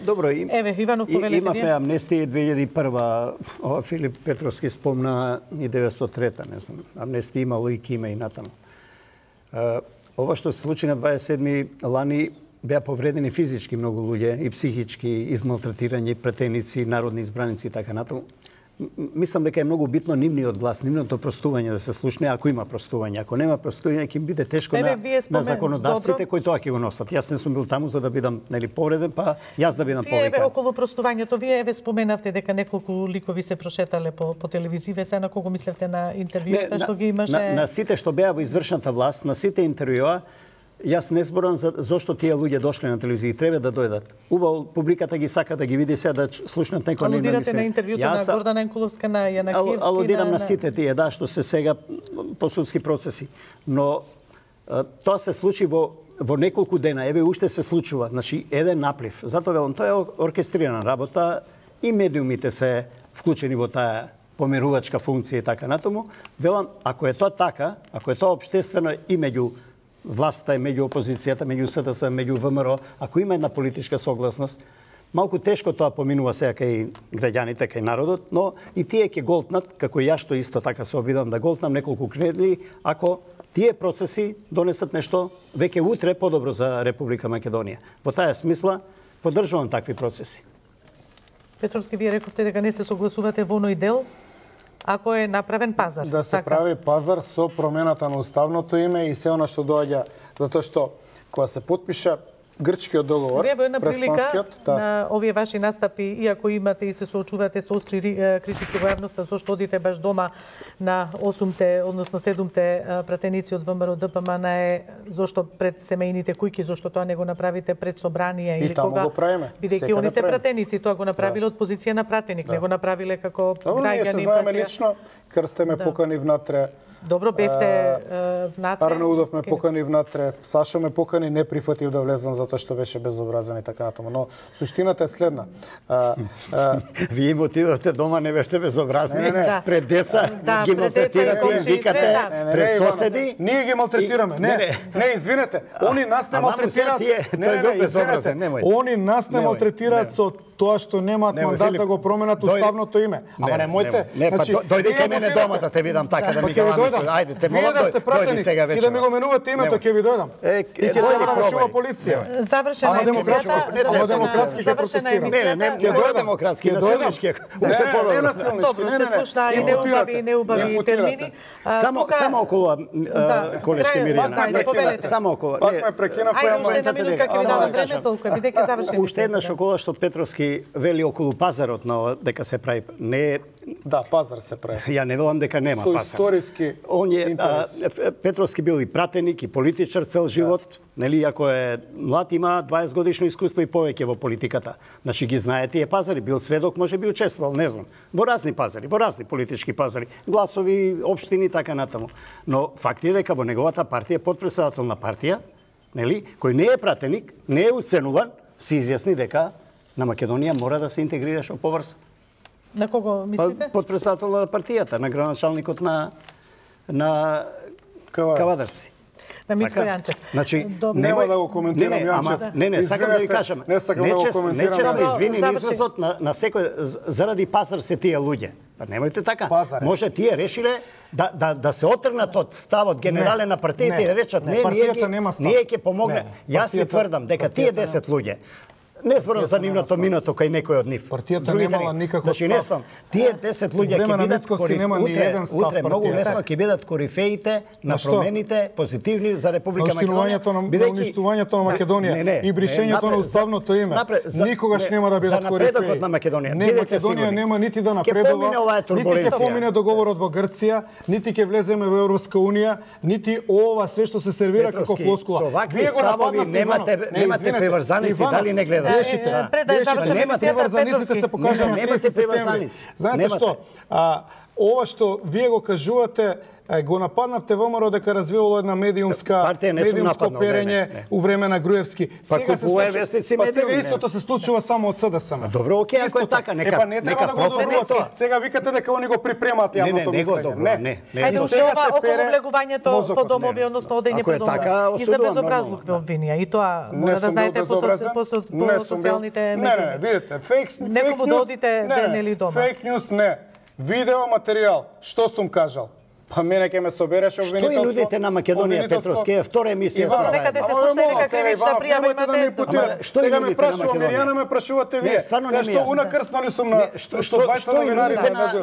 [SPEAKER 1] Добро,
[SPEAKER 2] Еве, Иванов, повелете
[SPEAKER 1] имавме амнестија 2001, Филип Петровски спомна и 903-та, не знам. Амнестија имало и кима и натаму. Ова што се случи на 27 лани беа повредени физички многу луѓе и психички, измалтретирање, претеници, народни избраници и така натаму. Мислам дека е многу битно нивниот глас, нивното простување да се слушне, ако има простување. Ако нема простување, ќе им биде тешко на законодавците кои тоа ќе го носат. Јас не сум бил таму за да бидам повреден, па јас да бидам повикан.
[SPEAKER 2] Вие околу простувањето, вие споменавте дека неколку ликови се прошетале по телевизија, се на кого мислевте на интервјута што ги имаше?
[SPEAKER 1] На сите што беа во извршната власт, на сите интервјуа, јас не зборам за зошто тие луѓе дошле на телевизија, треба да дојдат. Убаво публиката ги сака да ги види се да слушнат некој нема мислење.
[SPEAKER 2] Алудирате на интервјуто на Гордана Енкуловска, на Јанакиевски,
[SPEAKER 1] алудирам на сите тие, да, што се сега по судски процеси. Но тоа се случи во неколку дена, еве уште се случува, значи еден наплив. Затоа велам, тоа е оркестрирана работа и медиумите се вклучени во таа помирувачка функција и така натаму. Велам, ако е тоа така, ако е тоа општествено и меѓу власта е меѓу опозицијата, меѓу СДС, меѓу ВМРО, ако има една политичка согласност, малку тешко тоа поминува сега кај граѓаните, кај народот, но и тие ќе голтнат, како ја што исто така се обидам да голтнам неколку кредли, ако тие процеси донесат нешто веќе утре подобро за Република Македонија. Во таа смисла, поддржувам такви процеси.
[SPEAKER 2] Петровски, вие рековте дека не се согласувате во оној дел, ако е направен пазар.
[SPEAKER 3] Да се прави пазар со промената на уставното име и се она што доаѓа, затоа што кога се потпиша грчкиот договор,
[SPEAKER 2] вие во една прилика
[SPEAKER 3] да.
[SPEAKER 2] на овие ваши настапи, иако имате и се соочувате со остри критики во јавноста, зошто одите баш дома на 8-те, односно 7-те пратеници од ВМРО ДПМН, зошто пред семејните кујки, зошто тоа не го направите пред собрание или кога?
[SPEAKER 3] И таму го правиме.
[SPEAKER 2] Бидејќи они се пратеници, тоа го направиле од позиција на пратеник, не го направиле како граѓани.
[SPEAKER 3] Ние се знаеме лично, кај сте ме покани внатре.
[SPEAKER 2] Добро, бевте внатре.
[SPEAKER 3] Арне Удов ме покани внатре, Сашо ме покани, не прифатив да влезам затоа што беше безобразен и така натаму. Но суштината е следна.
[SPEAKER 1] Вие им отидовте дома, не бевте безобразни, пред деца,
[SPEAKER 2] да,
[SPEAKER 1] ги малтретирате, им викате, пред соседи.
[SPEAKER 3] Ние ги малтретираме. Не, извинете. Они нас не малтретираат.
[SPEAKER 1] Тој бил безобразен, немој.
[SPEAKER 3] Они нас не малтретираат со тоа што немаат мандат да го променат уставното име. Ама немојте.
[SPEAKER 1] Не, па дојди кај мене дома да те видам така да ми кажам. Ајде, те молам, дојди сега вечер.
[SPEAKER 3] И да ми го менувате името, ќе ви дојдам. И ќе треба да чува полиција.
[SPEAKER 2] Завршена е
[SPEAKER 3] демократски ќе протестирам.
[SPEAKER 1] Не дојде демократски, насилнички. Уште подобро.
[SPEAKER 3] Не насилнички,
[SPEAKER 2] не. Се слушна и неубави термини.
[SPEAKER 1] Само околу колешки Мирјана. Само околу.
[SPEAKER 3] Пак ме прекинав која
[SPEAKER 2] уште една минутка ќе ви дадам време, толку бидејќи завршени.
[SPEAKER 1] Уште една ова што Петровски вели околу пазарот на дека се прави. Не.
[SPEAKER 3] Да, пазар се прави.
[SPEAKER 1] Ја не велам дека нема пазар.
[SPEAKER 3] Со историски интереси.
[SPEAKER 1] Петровски бил и пратеник и политичар цел живот, нели, ако е млад, има 20 годишно искуство и повеќе во политиката. Значи ги знае тие пазари, бил сведок, може би учествувал, не знам. Во разни пазари, во разни политички пазари, гласови, општини така натаму. Но факт е дека во неговата партија потпредседател на партија, нели, кој не е пратеник, не е уценуван, се изјасни дека на Македонија мора да се интегрираш во поврс.
[SPEAKER 2] На кого мислите?
[SPEAKER 1] Потпредседател на партијата, на градоначалникот на Кавадарци.
[SPEAKER 2] на Митко Јанчев.
[SPEAKER 1] Значи,
[SPEAKER 3] нема да го коментирам Јанчев.
[SPEAKER 1] Не, сакам да ви кажам.
[SPEAKER 3] Не сакам да го коментирам.
[SPEAKER 1] Нечесно извини изразот на секој заради пазар се тие луѓе. Па немојте така. Може тие решиле да се отргнат од ставот генерален на партиите и речат не, ние ќе помогне. Јас ви тврдам дека тие 10 луѓе не зборам за нивното минато кај некој од нив.
[SPEAKER 3] Партијата немала никаков став.
[SPEAKER 1] Значи, тие 10 луѓе ќе бидат утре многу лесно ќе бидат корифеите на промените позитивни за Република Македонија.
[SPEAKER 3] Уништувањето на Македонија и бришењето на уставното име. Никогаш нема да бидат корифеи.
[SPEAKER 1] За напредокот на Македонија.
[SPEAKER 3] Не, Македонија нема нити да напредува, нити ќе помине договорот во Грција, нити ќе влеземе во Европска унија, нити ова све што се сервира како флоскула.
[SPEAKER 1] Вие го нападнавте, немате приврзаници, дали не гледате?
[SPEAKER 2] Пред да заврши емисијата Петровски.
[SPEAKER 3] се покажа на 30 септември. Знаете што? Ова што вие го кажувате, го нападнавте ВМРО дека развивало една медиумско перење у време на Груевски.
[SPEAKER 1] Сега
[SPEAKER 3] истото се случува само од СДСМ.
[SPEAKER 1] Добро, окей, ако е така, нека
[SPEAKER 3] не треба да го добрувате. Сега викате дека они го припремаат јавното мислење.
[SPEAKER 1] Не.
[SPEAKER 2] Хајде уште ова околу влегувањето по домови, односно одење по домови. И за безобразлук ве обвинија. И тоа мора да знаете по социјалните медии.
[SPEAKER 3] Не, видите, фейк нюс.
[SPEAKER 2] Некому да одите денели дома.
[SPEAKER 3] Фейк нюс не. Видео материјал. Што сум кажал? Па мене ќе ме собереш обвинителство.
[SPEAKER 1] Што и нудите на Македонија, Петровски, втора емисија.
[SPEAKER 2] Некаде се слушна дека кривична пријава имате.
[SPEAKER 3] Сега ме прашува Миријана, ме прашувате вие. Зашто унакрсно ли сум на што 20 новинари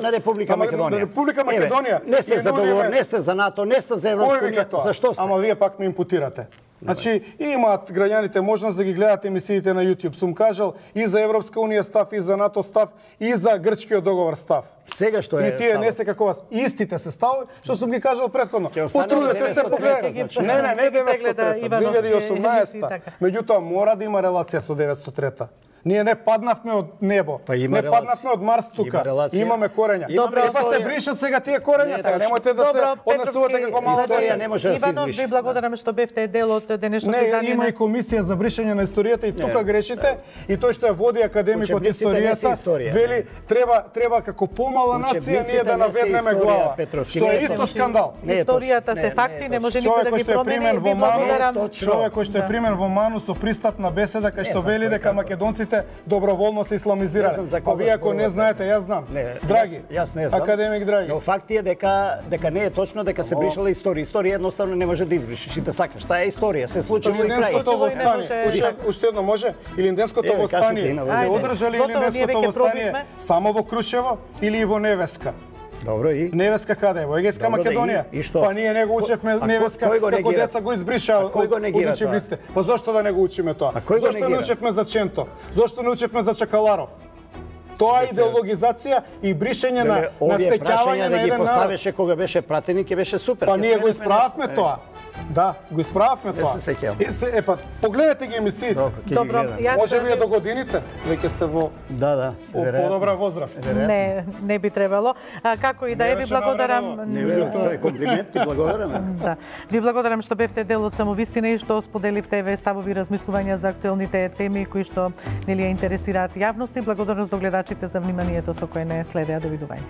[SPEAKER 1] на Република Македонија?
[SPEAKER 3] На Република Македонија.
[SPEAKER 1] Не сте за договор, не сте за НАТО, не сте за Европска унија. Зашто сте?
[SPEAKER 3] Ама вие пак ме импутирате. Значи, имаат граѓаните можност да ги гледат емисиите на YouTube. Сум кажал и за Европска унија став, и за НАТО став, и за грчкиот договор став.
[SPEAKER 1] Сега што е
[SPEAKER 3] и тие не се како вас. Истите се ставови, што сум ги кажал претходно. Потрудете се погледате. Не 903, 2018. Меѓутоа мора да има релација со 903. Ние не паднавме од небо. Не паднавме од Марс тука. Имаме корења. Па се бришат сега тие корења. Сега немојте да се однесувате како мала
[SPEAKER 1] историја, не може да се избрише.
[SPEAKER 2] Иванов, ви благодарам што бевте дел од денешното издание.
[SPEAKER 3] Не, има и комисија за бришење на историјата и тука грешите. И тој што ја води академикот историјата, вели треба како помала нација ние да наведнеме глава. Што е исто скандал.
[SPEAKER 2] Историјата се факти, не може никој да ги промени. Ви благодарам.
[SPEAKER 3] Човек кој што е примен во Ману со пристапна беседа кај што вели дека македонците доброволно се исламизирале. А вие ако не знаете, јас знам. Драги,
[SPEAKER 1] јас не знам.
[SPEAKER 3] Академик Драги.
[SPEAKER 1] Но факт е дека не е точно дека се бришала историја. Историја едноставно не може да избришиш и да сакаш. Таа е историја, се случува и крај.
[SPEAKER 3] Уште едно може? Илинденското востание се одржали Илинденското востание само во Крушево или во Невеска?
[SPEAKER 1] Добро и
[SPEAKER 3] Невеска каде? Во Егејска Македонија. Па ние не го учевме Невеска, како деца го избришаа од учебниците. Па зошто да не го учиме тоа? Зошто не учевме за Ченто? Зошто не учевме за Чакаларов? Тоа е идеологизација и бришење на сеќавање на еден народ.
[SPEAKER 1] Поставеше кога беше пратеник и беше супер.
[SPEAKER 3] Па ние го исправавме тоа. Да, го исправавме тоа.
[SPEAKER 1] Не се сеќавам.
[SPEAKER 3] Епа, погледнете ги емисиите.
[SPEAKER 2] Добро,
[SPEAKER 3] може би до годините, веќе сте во подобра возраст.
[SPEAKER 2] Не би требало. Како и да е, ви благодарам.
[SPEAKER 1] Тоа е комплимент, ти благодарам.
[SPEAKER 2] Да. Ви благодарам што бевте дел од Самовистина и што споделивте ставови размислувања за актуелните теми кои што нели ја интересираат јавност и благодарност до гледачите за вниманието со кое не следеа. Довидување.